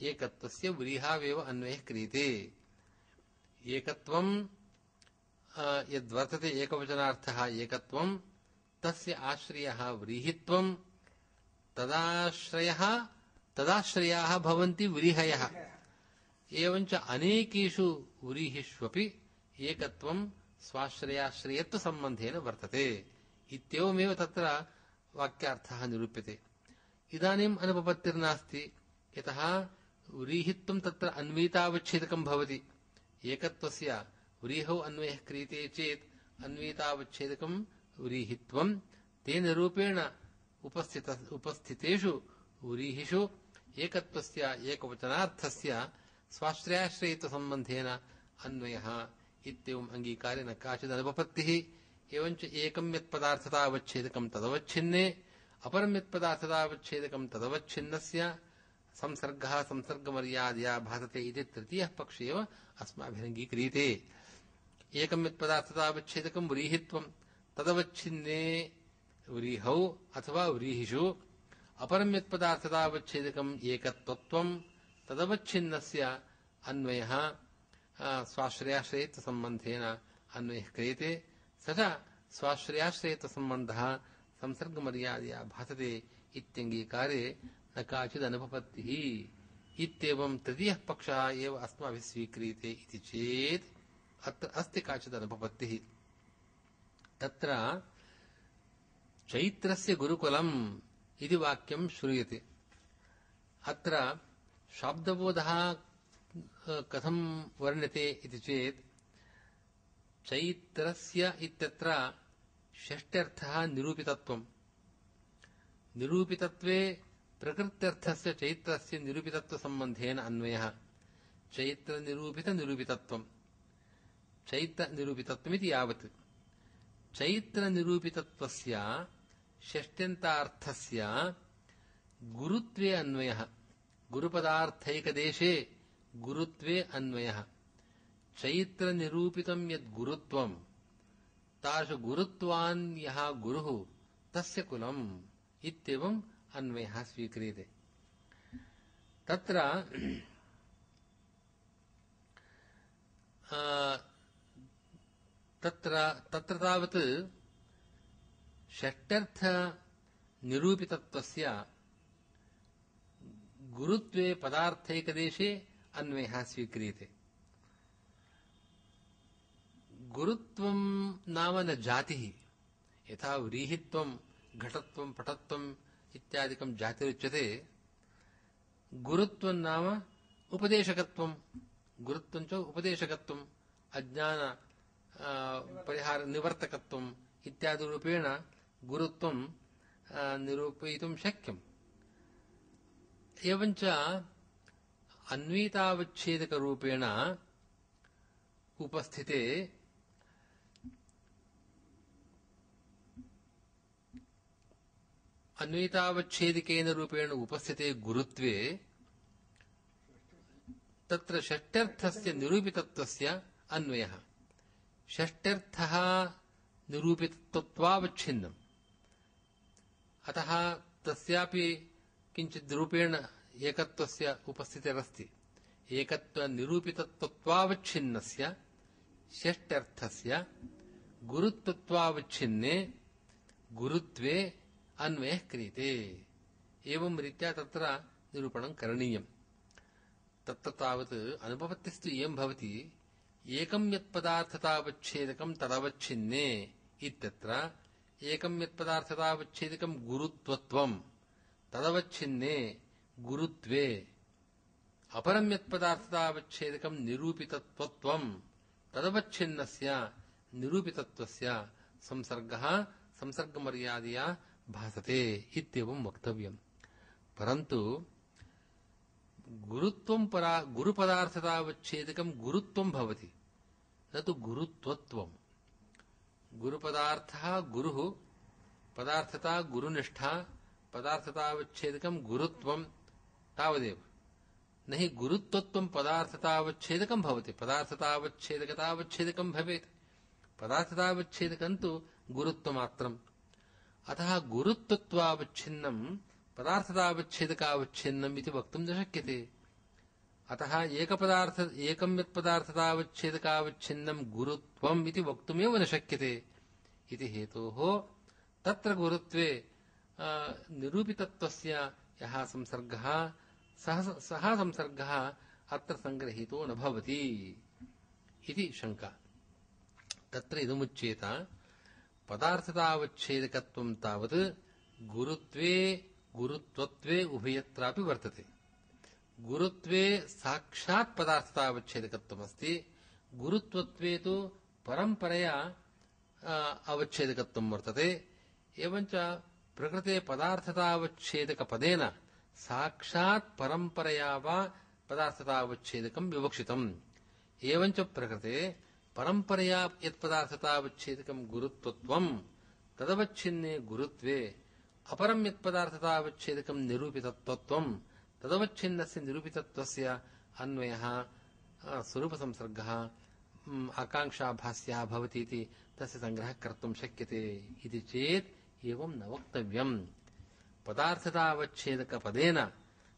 एकत्वस्य व्रीहावेव अन्वयः क्रियते। एकत्वं यद्वर्तते एकवचनार्थः एकत्वं तस्य आश्रयः व्रीहित्वं तदाश्रयः तदाश्रयाः भवन्ति व्रीहयः। एवञ्च अनेकेषु व्रीहिष्वपि एकत्वं स्वाश्रयाश्रयत्वसम्बन्धेन वर्तते इत्येवमेव तत्र वाक्यार्थः निरूप्यते। इदानीम् अनुपपत्तिर्नास्ति, यतः व्रीहित्वं तत्र अन्वितावच्छेदकं भवति। एकत्वस्य व्रीहौ अन्वयः क्रियते चेत् अन्वितावच्छेदकं व्रीहित्वं तेन रूपेण उपस्थित उपस्थितेषु व्रीहिषु एकत्वस्य एकवचनार्थस्य स्वाश्रयाश्रयित्वसम्बन्धेन अन्वयः इत्येवम् अङ्गीकारे न काचिदनुपपत्तिः। एवञ्च एकं यत्पदार्थतावच्छेदकं तदवच्छिन्ने अपरं यत्पदार्थतावच्छेदकं तदवच्छिन्नस्य संसर्गः संसर्गमर्यादया भासते इति तृतीयः पक्ष एव अस्माभिरङ्गीक्रियते। एकं यत्पदार्थतावच्छेदकं व्रीहित्वं तदवच्छिन्ने व्रीहौ अथवा व्रीहिषु अपरं यत्पदार्थतावच्छेदकम् एकत्वत्वं तदवच्छिन्नस्य अन्वयः स्वाश्रयाश्रयित्वसम्बन्धेन अन्वयः क्रियते। स च स्वाश्रयाश्रयित्वसम्बन्धः संसर्गमर्यादया भासते इत्यङ्गीकारे न काचिदनुपपत्तिः इत्येवं तृतीयः पक्षः एव अस्माभिः स्वीक्रियते इति चेत् अत्र अस्ति काचिदनुपपत्तिः। तत्र चैत्रस्य गुरुकुलम् इति वाक्यं श्रूयते। अत्र शाब्दबोधः कथं वर्ण्यते इति चेत् चैत्रस्य इत्यत्र षष्ट्यर्थः निरूपितत्वं। निरूपितत्वे प्रकृत्यर्थस्य चैत्रस्य निरूपितत्वसम्बन्धेन अन्वयः चैत्रनिरूपितनिरूपितत्वं चैत्रनिरूपितत्वमिति यावत् चैत्रनिरूपितत्वस्य षष्ट्यन्तार्थस्य गुरुत्वे अन्वयः गुरुपदार्थैकदेशे गुरुत्वे अन्वयः चैत्रनिरूपितं यद् गुरुत्वं तादृश गुरुत्वान् यः गुरुः तस्य कुलम् इत्येवम् अन्वयः स्वीक्रियते। तत्र तत्र तत्र तावत् षष्ट्यर्थ निरूपितत्वस्य गुरुत्वे पदार्थैकदेशे अन्वयः स्वीक्रियते। गुरुत्वं नाम न जातिः। यथा व्रीहित्वं घटत्वं पटत्वम् इत्यादिकं जातिरुच्यते, गुरुत्वं नाम उपदेशकत्वं। गुरुत्वं च उपदेशकत्वम्, अज्ञान परिहार निवर्तकत्वम् इत्यादिरूपेण गुरुत्वं निरूपयितुं शक्यम्। एवञ्च अन्वितावच्छेदकरूपेण उपस्थिते अन्वितावच्छेदिकेन रूपेण उपस्थिते गुरुत्वे तत्र षष्ट्यर्थस्य निरूपितत्वस्य अन्वयः। षष्ट्यर्थः निरूपितत्वावच्छिन्नम्, अतः तस्यापि किञ्चित् रूपेण एकत्वस्य उपस्थितिरस्ति। एकत्वनिरूपितत्वावच्छिन्नस्य षष्ट्यर्थस्य गुरुत्वत्वावच्छिन्ने गुरुत्वे अन्वयः क्रियते। एवं रीत्या तत्र निरूपणं करणीयम्। तत्र तावत् अनुपपत्तिस्तु इयं भवति, एकं यत्पदार्थतावच्छेदकं तदवच्छिन्ने इत्यत्र एकं यत्पदार्थतावच्छेदकं गुरुत्वत्वं तदवच्छिन्ने गुरुत्वे अपरं यत्पदार्थतावच्छेदकं निरूपितत्वत्वं तदवच्छिन्नस्य निरूपितत्वस्य संसर्गः संसर्गमर्यादया भासते इत्येवं वक्तव्यम्। परन्तु गुरुत्वं परा गुरुपदार्थतावच्छेदकं गुरुत्वं भवति, न तु गुरुत्वत्वं। गुरुपदार्थः गुरुः, पदार्थता गुरुनिष्ठा, पदार्थतावच्छेदकं गुरुत्वं तावदेव। न हि गुरुत्वत्वं पदार्थतावच्छेदकं भवति। पदार्थतावच्छेदकतावच्छेदकं भवेत्, पदार्थतावच्छेदकं तु गुरुत्वमात्रम्। अतः गुरुत्वत्वावच्छिन्नं पदार्थतावच्छेदकावच्छिन्नम् इति वक्तुं न शक्यते। अतः एकपदार्थ एकं यत्पदार्थतावच्छेदकावच्छिन्नं गुरुत्वम् इति वक्तुमेव न शक्यते इति हेतोः तत्र गुरुत्वे निरूपितत्वस्य यः संसर्गः सः सः संसर्गः अत्र संग्रहीतो न भवति इति शङ्का। तत्र इदमुच्येत, पदार्थतावच्छेदकत्वं तावत् गुरुत्वे गुरुत्वत्वे उभयत्रापि वर्तते। गुरुत्वे साक्षात् पदार्थतावच्छेदकत्वमस्ति, गुरुत्वत्वे तु परम्परया अवच्छेदकत्वं वर्तते। एवञ्च प्रकृते पदार्थतावच्छेदकपदेन साक्षात् परम्परया वा पदार्थतावच्छेदकं विवक्षितम्। एवञ्च प्रकृते परम्परया यत्पदार्थतावच्छेदकं गुरुत्वत्वं तदवच्छिन्ने गुरुत्वे अपरं यत्पदार्थतावच्छेदकं निरूपितत्वं तदवच्छिन्नस्य निरूपितत्वस्य अन्वयः स्वरूपसंसर्गः आकाङ्क्षाभास्यः भवति इति तस्य संग्रहः कर्तुं शक्यते इति चेत् एवं न वक्तव्यम्। पदार्थतावच्छेदकपदेन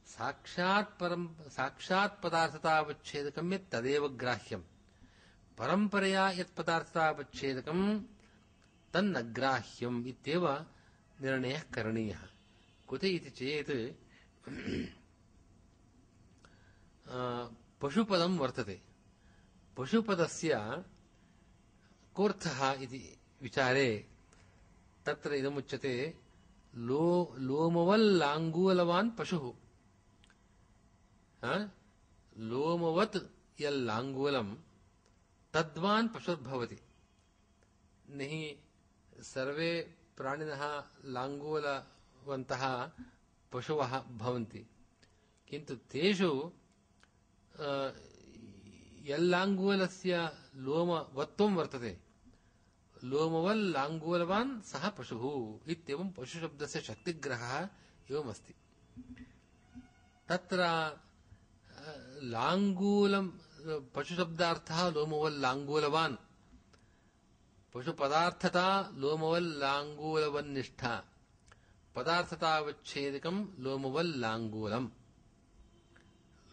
साक्षात् परं साक्षात् पदार्थतावच्छेदकं यत् तदेव ग्राह्यम्, परम्परया यत् पदार्थतावच्छेदकं तन्न ग्राह्यम् इत्येव निर्णयः करणीयः। कुते इति चेत् पशुपदं वर्तते, पशुपदस्य कोऽर्थः इति विचारे तत्र इदमुच्यते लो लोमवल्लाङ्गूलवान् पशुः। लोमवत् यल्लाङ्गूलं तद्वान् पशुर्भवति। नहि सर्वे प्राणिनः लाङ्गूलवन्तः पशवः भवन्ति, किन्तु तेषु यल्लाङ्गूलस्य लोमवत्त्वं वर्तते, लोमवल्लाङ्गूलवान् सः पशुः इत्येवं पशुशब्दस्य शक्तिग्रहः एवमस्ति। तत्र लाङ्गूलं पशुशब्दार्थः लोमवल्लाङ्गूलवान्, पशुपदार्थता लोमवल्लाङ्गूलवन्निष्ठा, पदार्थतावच्छेदकं लोमवल्लाङ्गूलम्,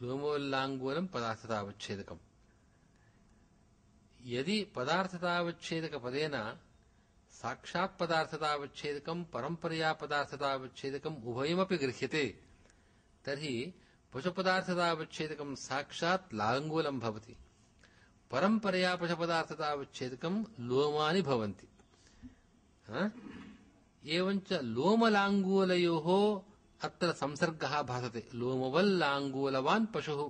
लोमवल्लाङ्गूलं पदार्थतावच्छेदकम्। यदि पदार्थतावच्छेदकपदेन साक्षात् पदार्थतावच्छेदकं परम्परया पदार्थतावच्छेदकम् उभयमपि गृह्यते तर्हि पशुपदार्थतावच्छेदकं साक्षात् लाङ्गूलं भवति, परम्परया पशुपदार्थतावच्छेदकं लोमानि भवन्ति। एवञ्च लोमलाङ्गूलयोः अत्र संसर्गः भासते, लोमवल्लाङ्गूलवान् पशुः।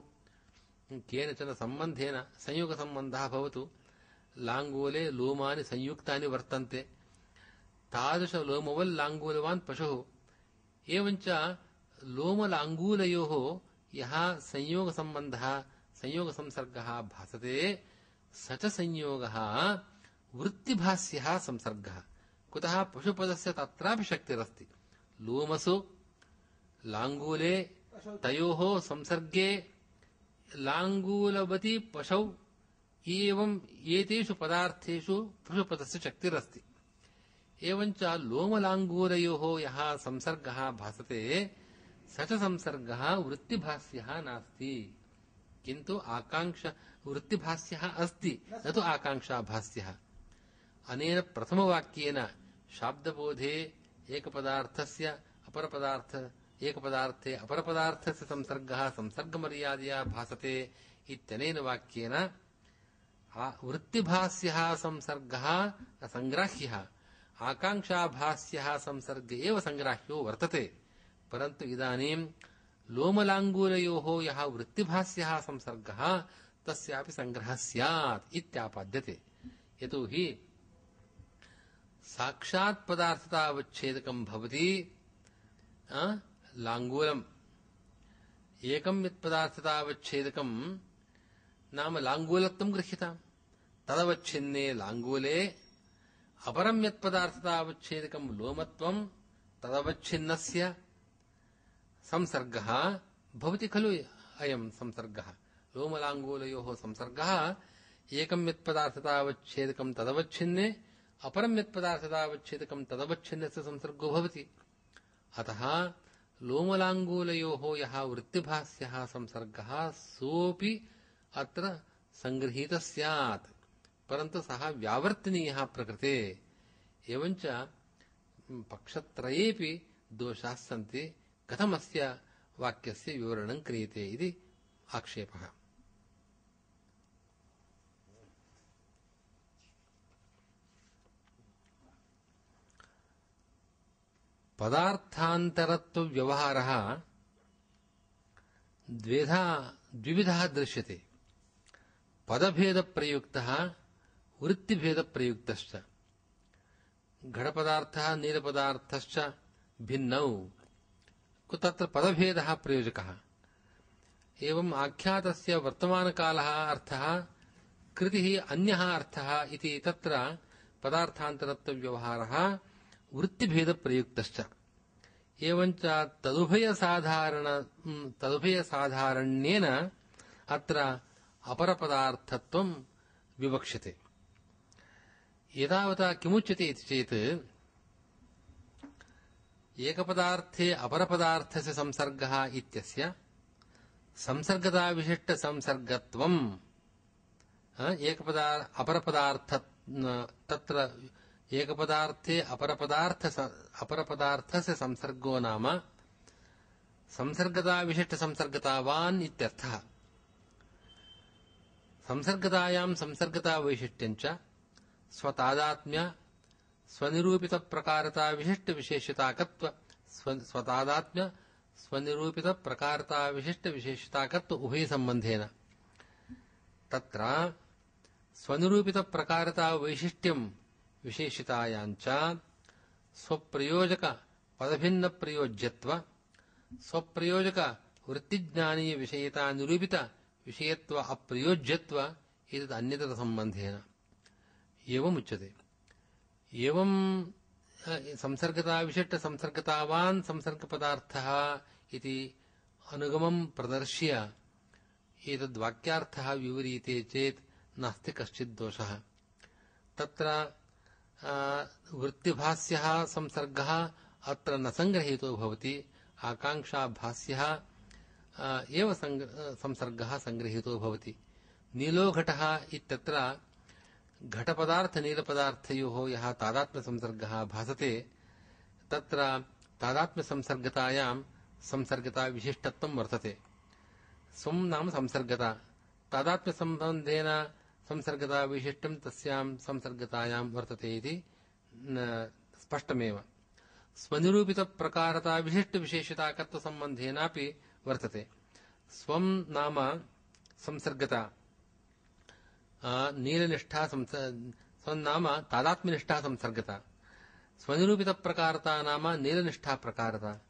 केनचन सम्बन्धेन संयोगसम्बन्धः भवतु, लाङ्गूले लोमानि संयुक्तानि वर्तन्ते, तादृश लोमवल्लाङ्गूलवान् पशुः। एवञ्च लोमलाङ्गूलयोः यः संयोगसम्बन्धः संयोगसंसर्गः भासते स च संयोगः वृत्तिभास्यः संसर्गः। कुतः पशुपदस्य तत्रापि शक्तिरस्ति, लोमसु लाङ्गूले तयोः संसर्गे लाङ्गूलवती पशौ एवं एतेषु पदार्थेषु पशुपदस्य शक्तिरस्ति। एवञ्च लोमलाङ्गूलयोः यः संसर्गः भासते स च संसर्गः वृत्तिभास्यः नास्ति, किन्तु आकाङ्क्षा वृत्तिभास्यः अस्ति, न तु आकाङ्क्षाभास्यः। अनेन प्रथमवाक्येन शाब्दबोधे एकपदार्थस्य अपरपदार्थ एकपदार्थे अपरपदार्थस्य संसर्गः संसर्गमर्यादया भासते इत्यनेन वाक्येन वृत्तिभास्यः संसर्गः असङ्ग्राह्यः, आकाङ्क्षाभास्यः संसर्ग एव सङ्ग्राह्यो वर्तते। परन्तु इदानीं लोमलाङ्गूलयोः यः वृत्तिभास्यः संसर्गः तस्यापि सङ्ग्रहः स्यात् इत्यापाद्यते। यतोहि साक्षात् पदार्थतावच्छेदकं भवति लाङ्गूलम्, एकं यत्पदार्थतावच्छेदकं नाम लाङ्गूलत्वं गृह्यताम्, तदवच्छिन्ने लाङ्गूले अपरं यत्पदार्थतावच्छेदकं लोमत्वं तदवच्छिन्नस्य संसर्गः भवति खलु। अयं संसर्गः लोमलाङ्गूलयोः संसर्गः एकं यत्पदार्थतावच्छेदकं तदवच्छिन्ने अपरं यत्पदार्थतावच्छेदकं तदवच्छिन्नस्य संसर्गो भवति। अतः लोमलाङ्गूलयोः यः वृत्तिभास्यः संसर्गः सोऽपि अत्र सङ्गृहीतः स्यात्, परन्तु सः व्यावर्तनीयः प्रकृते। एवञ्च पक्षत्रयेऽपि दोषाः सन्ति, कथमस्य वाक्यस्य विवरणं क्रियते इति आक्षेपः। पदार्थान्तरत्व व्यवहारः द्विधा द्विविधः दृश्यते। पदभेदप्रयुक्तः वृत्तिभेदप्रयुक्तश्च। घटपदार्थः नीलपदार्थश्च भिन्नौ तत्र पदभेदः प्रयोजकः। एवं आख्यातस्य वर्तमानकालः अर्थः कृतिः अन्यः अर्थः इति तत्र पदार्थान्तरत्वव्यवहारः वृत्तिभेदप्रयुक्तश्च। एवञ्च तदुभयसाधारण तदुभयसाधारण्येन अत्र अपरपदार्थत्वं विवक्ष्यते। एतावता किमुच्यते इति चेत् एकपदार्थे अपरपदार्थस्य संसर्गः इत्यस्य संसर्गताविशिष्टसंसर्गत्वम् एकपदा अपरपदार्थ तत्र एकपदार्थे अपरपदार्थ अपरपदार्थस्य संसर्गो नाम संसर्गताविशिष्टसंसर्गतावान् इत्यर्थः। संसर्गतायां संसर्गतावैशिष्ट्यञ्च स्वतादात्म्य स्वनिरूपितप्रकारताविशिष्टविशेषताकत्व स्वतादात्म्य स्वनिरूपितप्रकारताविशिष्टविशेषताकत्व उभयसम्बन्धेन। तत्र स्वनिरूपितप्रकारतावैशिष्ट्यं विशेषतायाञ्च स्वप्रयोजक पदभिन्नप्रयोज्यत्व स्वप्रयोजक वृत्तिज्ञानीयविषयता निरूपित विषयत्व अप्रयोज्यत्व एतद् अन्यतरसम्बन्धेन एवमुच्यते। एवं संसर्गताविशिष्टसंसर्गतावान् संसर्गपदार्थः इति अनुगमं प्रदर्श्य एतद्वाक्यार्थः विवरीते चेत् नास्ति कश्चित् दोषः। तत्र वृत्तिभास्यः संसर्गः अत्र न संग्रहीतो भवति, आकाङ्क्षाभास्यः एव संसर्गः संग्रहीतो भवति। नीलो घटः इत्यत्र घटपदार्थ-नीलपदार्थयोः यः तादात्म्यसंसर्गः भासते तत्र तादात्म्यसंसर्गतायां संसर्गताविशिष्टत्वं वर्तते। स्वं नाम संसर्गता तादात्म्यसम्बन्धेन संसर्गताविशिष्टं तस्यां संसर्गतायां वर्तते इति स्पष्टमेव। स्वनिरूपितप्रकारताविशिष्टविशेषताकत्वसम्बन्धेनापि वर्तते। स्वं नाम संसर्गता नीलनिष्ठा स्वं नाम तादात्म्यनिष्ठा संसर्गता, स्वनिरूपितप्रकारता नाम नीलनिष्ठा प्रकारता,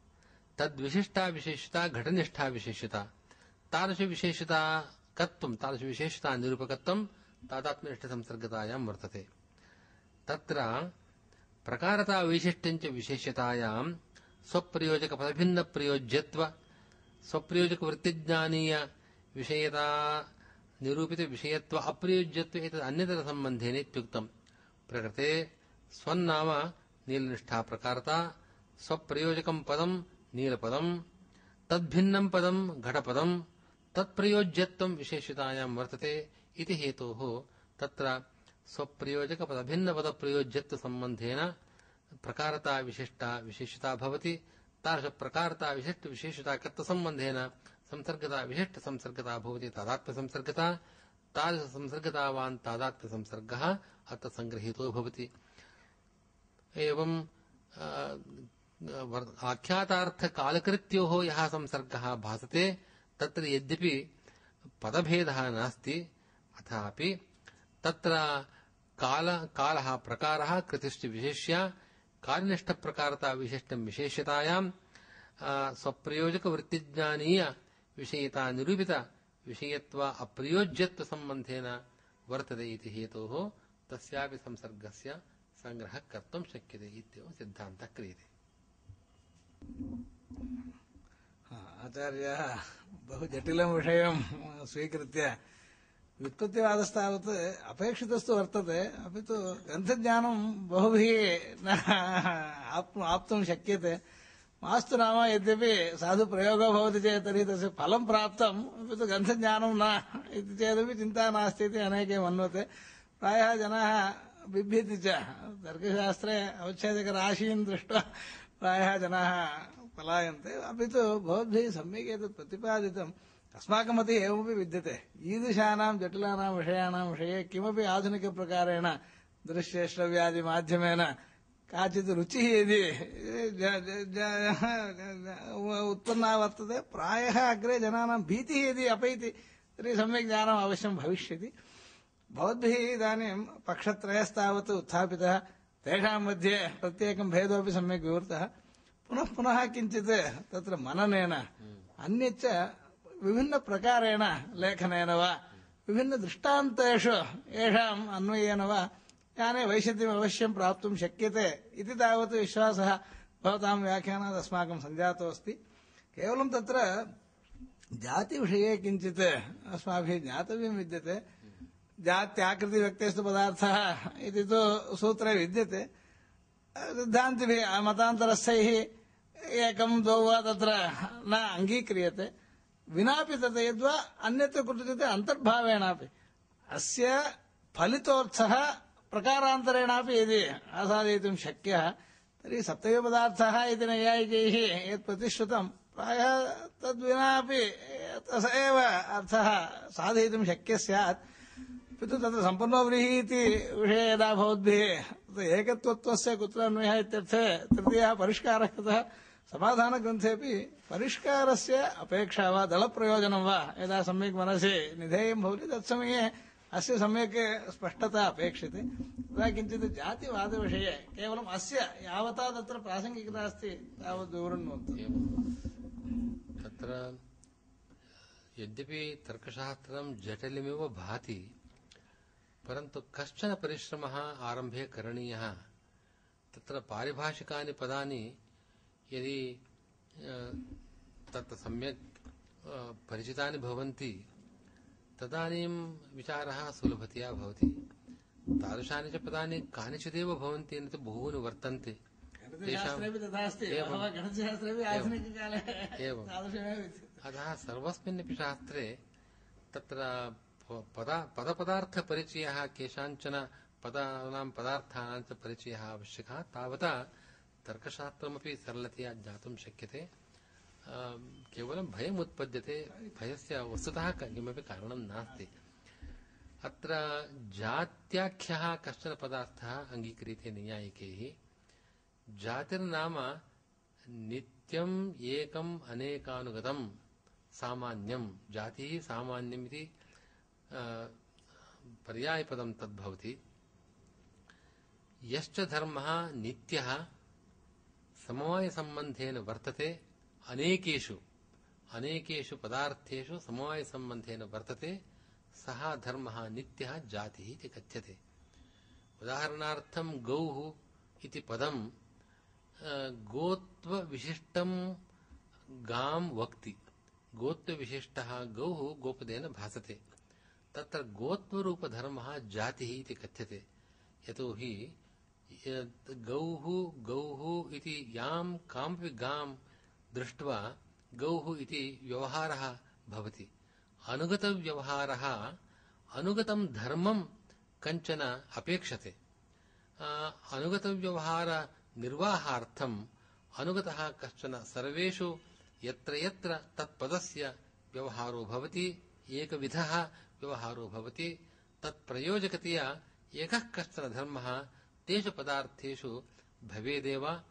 तद्विशिष्टा विशेषता घटनिष्ठा विशेषता, तादृशविशेषताकत्वं तादृशविशेषता निरूपकत्वं तादात्म्यनिष्ठसंसर्गतायां वर्तते। तत्र प्रकारता वैशिष्ट्यञ्च विशेषतायां स्वप्रयोजकपदभिन्नप्रयोज्यत्व स्वप्रयोजकवृत्तिज्ञानीय विषयता निरूपित विषयत्व अप्रयोज्यत्व एतद् अन्यतरसम्बन्धेन इत्युक्तम्। प्रकृते स्वन्नाम नीलनिष्ठा प्रकारता, स्वप्रयोजकं पदं नीलपदं, तद्भिन्नं पदं घटपदं, तत्प्रयोज्यत्वं विशेषतायां वर्तते इति हेतोः तत्र स्वप्रयोजकपदभिन्नपदप्रयोज्यत्वसम्बन्धेन प्रकारता विशिष्टा विशेषता भवति। तादृशप्रकारता विशिष्टविशेषताकत्वसम्बन्धेन संसर्गता विशिष्टसंसर्गता भवति तादात्म्यसंसर्गता। तादृशसंसर्गतावान् तादात्म्यसंसर्गः अत्र संगृहीतो भवति। एवं आख्यातार्थकालकृत्योः यः संसर्गः भासते तत्र यद्यपि पदभेदः नास्ति अथापि तत्र काल कालः प्रकारः कृतिश्च विशेष्य कार्यनिष्ठप्रकारता विशिष्टं विशेष्यतायां स्वप्रयोजकवृत्तिज्ञानीय विषयता निरूपित विषयत्व अप्रयोज्यत्व संबंधेन वर्तते इति हेतोः तस्यापि संसर्गस्य संग्रहः कर्तुं शक्यते इत्येवं सिद्धान्तः क्रियते। आचार्यः बहु जटिलं विषयं स्वीकृत्य व्युत्पत्तिवादस्तावत् अपेक्षितस्तु वर्तते, अपि तु ग्रन्थज्ञानं बहुभिः न आप्तुं शक्यते। मास्तु नाम यद्यपि साधु प्रयोगो भवति चेत् तर्हि तस्य फलं प्राप्तम्, अपि तु ग्रन्थज्ञानं न इति चेदपि चिन्ता नास्ति इति अनेके मन्वते। प्रायः जनाः बिभ्यति च, तर्कशास्त्रे अवच्छेदकराशीन् दृष्ट्वा प्रायः जनाः पलायन्ते। अपि तु भवद्भिः सम्यक् एतत् प्रतिपादितम्। अस्माकं मते एवमपि विद्यते, ईदृशानां जटिलानां विषयाणां विषये किमपि आधुनिकप्रकारेण दृश्यश्रव्यादिमाध्यमेन काचित् रुचिः यदि ज- ज- ज- उत्पन्ना वर्तते प्रायः अग्रे जनानां भीतिः यदि अपैति तर्हि सम्यक् ज्ञानम् अवश्यं भविष्यति। भवद्भिः इदानीं पक्षत्रयस्तावत् उत्थापितः, तेषां मध्ये प्रत्येकं भेदोऽपि सम्यक् विवृतः। पुनः पुनः किञ्चित् तत्र मननेन अन्यच्च विभिन्नप्रकारेण लेखनेन वा विभिन्नदृष्टान्तेषु येषाम् अन्वयेन वा ज्ञाने वैशद्यम् अवश्यं प्राप्तुं शक्यते इति तावत् विश्वासः भवतां व्याख्यानात् अस्माकं सञ्जातोऽस्ति। केवलं तत्र जातिविषये किञ्चित् अस्माभिः ज्ञातव्यं विद्यते। जात्याकृतिव्यक्तेस्तु पदार्थः इति तु सूत्रे विद्यते। सिद्धान्तिभिः मतान्तरस्थैः एकं द्वौ वा तत्र न अङ्गीक्रियते। विनापि तत् यद्वा अन्यत्र कुत्रचित् अन्तर्भावेणापि अस्य फलितोऽर्थः प्रकारान्तरेणापि यदि आसादयितुं शक्यः तर्हि सप्तमपदार्थः इति नैयायिकैः यत् प्रतिश्रुतं प्रायः तद्विनापि स एव अर्थः साधयितुं शक्यः स्यात्। किन्तु तत्र सम्पन्नो व्रीहि इति विषये यदा भवद्भिः एकत्वत्वस्य कुत्र अन्वयः इत्यर्थे तृतीयः परिष्कारः कृतः, समाधानग्रन्थेपि परिष्कारस्य अपेक्षा वा दलप्रयोजनं वा यदा सम्यक् मनसि निधेयं भवति तत्समये अस्य सम्यक् स्पष्टता अपेक्षते। तदा किञ्चित् जातिवादविषये केवलम् अस्य यावता तत्र प्रासङ्गिकता अस्ति तावद् विवृण्वन्तु। तत्र यद्यपि तर्कशास्त्रं जटिलमिव भाति, परन्तु कश्चन परिश्रमः आरम्भे करणीयः। तत्र पारिभाषिकानि पदानि यदि तत् सम्यक् परिचितानि भवन्ति तदानीं विचारः सुलभतया भवति। तादृशानि च पदानि कानिचिदेव भवन्ति, न तु बहूनि वर्तन्ते। अतः सर्वस्मिन्नपि शास्त्रे तत्र पदा पदपदार्थपरिचयः, केषाञ्चन पदानां पदार्थानां च परिचयः आवश्यकः। तावता तर्कशास्त्रमपि सरलतया ज्ञातुं शक्यते। केवलं भयम् उत्पद्यते, भयस्य वस्तुतः किमपि कारणं नास्ति। अत्र जात्याख्यः कश्चन पदार्थः अङ्गीक्रियते नैयायिकैः। जातिर्नाम नित्यम् एकम् अनेकानुगतं सामान्यं। जातिः सामान्यम् इति पर्यायपदं तद्भवति। यश्च धर्मः नित्यः समवायसम्बन्धेन वर्तते, अनेकेषु अनेकेषु पदार्थेषु समवायसम्बन्धेन वर्तते, सः धर्मः नित्यः जातिः इति कथ्यते। उदाहरणार्थं गौः इति पदं गोत्वविशिष्टं गां वक्ति। गोत्वविशिष्टः गौः गोपदेन भासते। तत्र गोत्वरूपधर्मः जातिः इति कथ्यते। यतोहि गौः गौः इति यां कामपि गां दृष्ट्वा गौः इति व्यवहारः भवति। अनुगतव्यवहारः अनुगतं धर्मं कञ्चन अपेक्षते। अनुगतव्यवहारनिर्वाहार्थम् अनुगतः कश्चन सर्वेषु यत्र यत्र तत्पदस्य व्यवहारो भवति, एकविधः व्यवहारो भवति, तत्प्रयोजकतया एकः कश्चन धर्मः तेषु पदार्थेषु भवेदेव।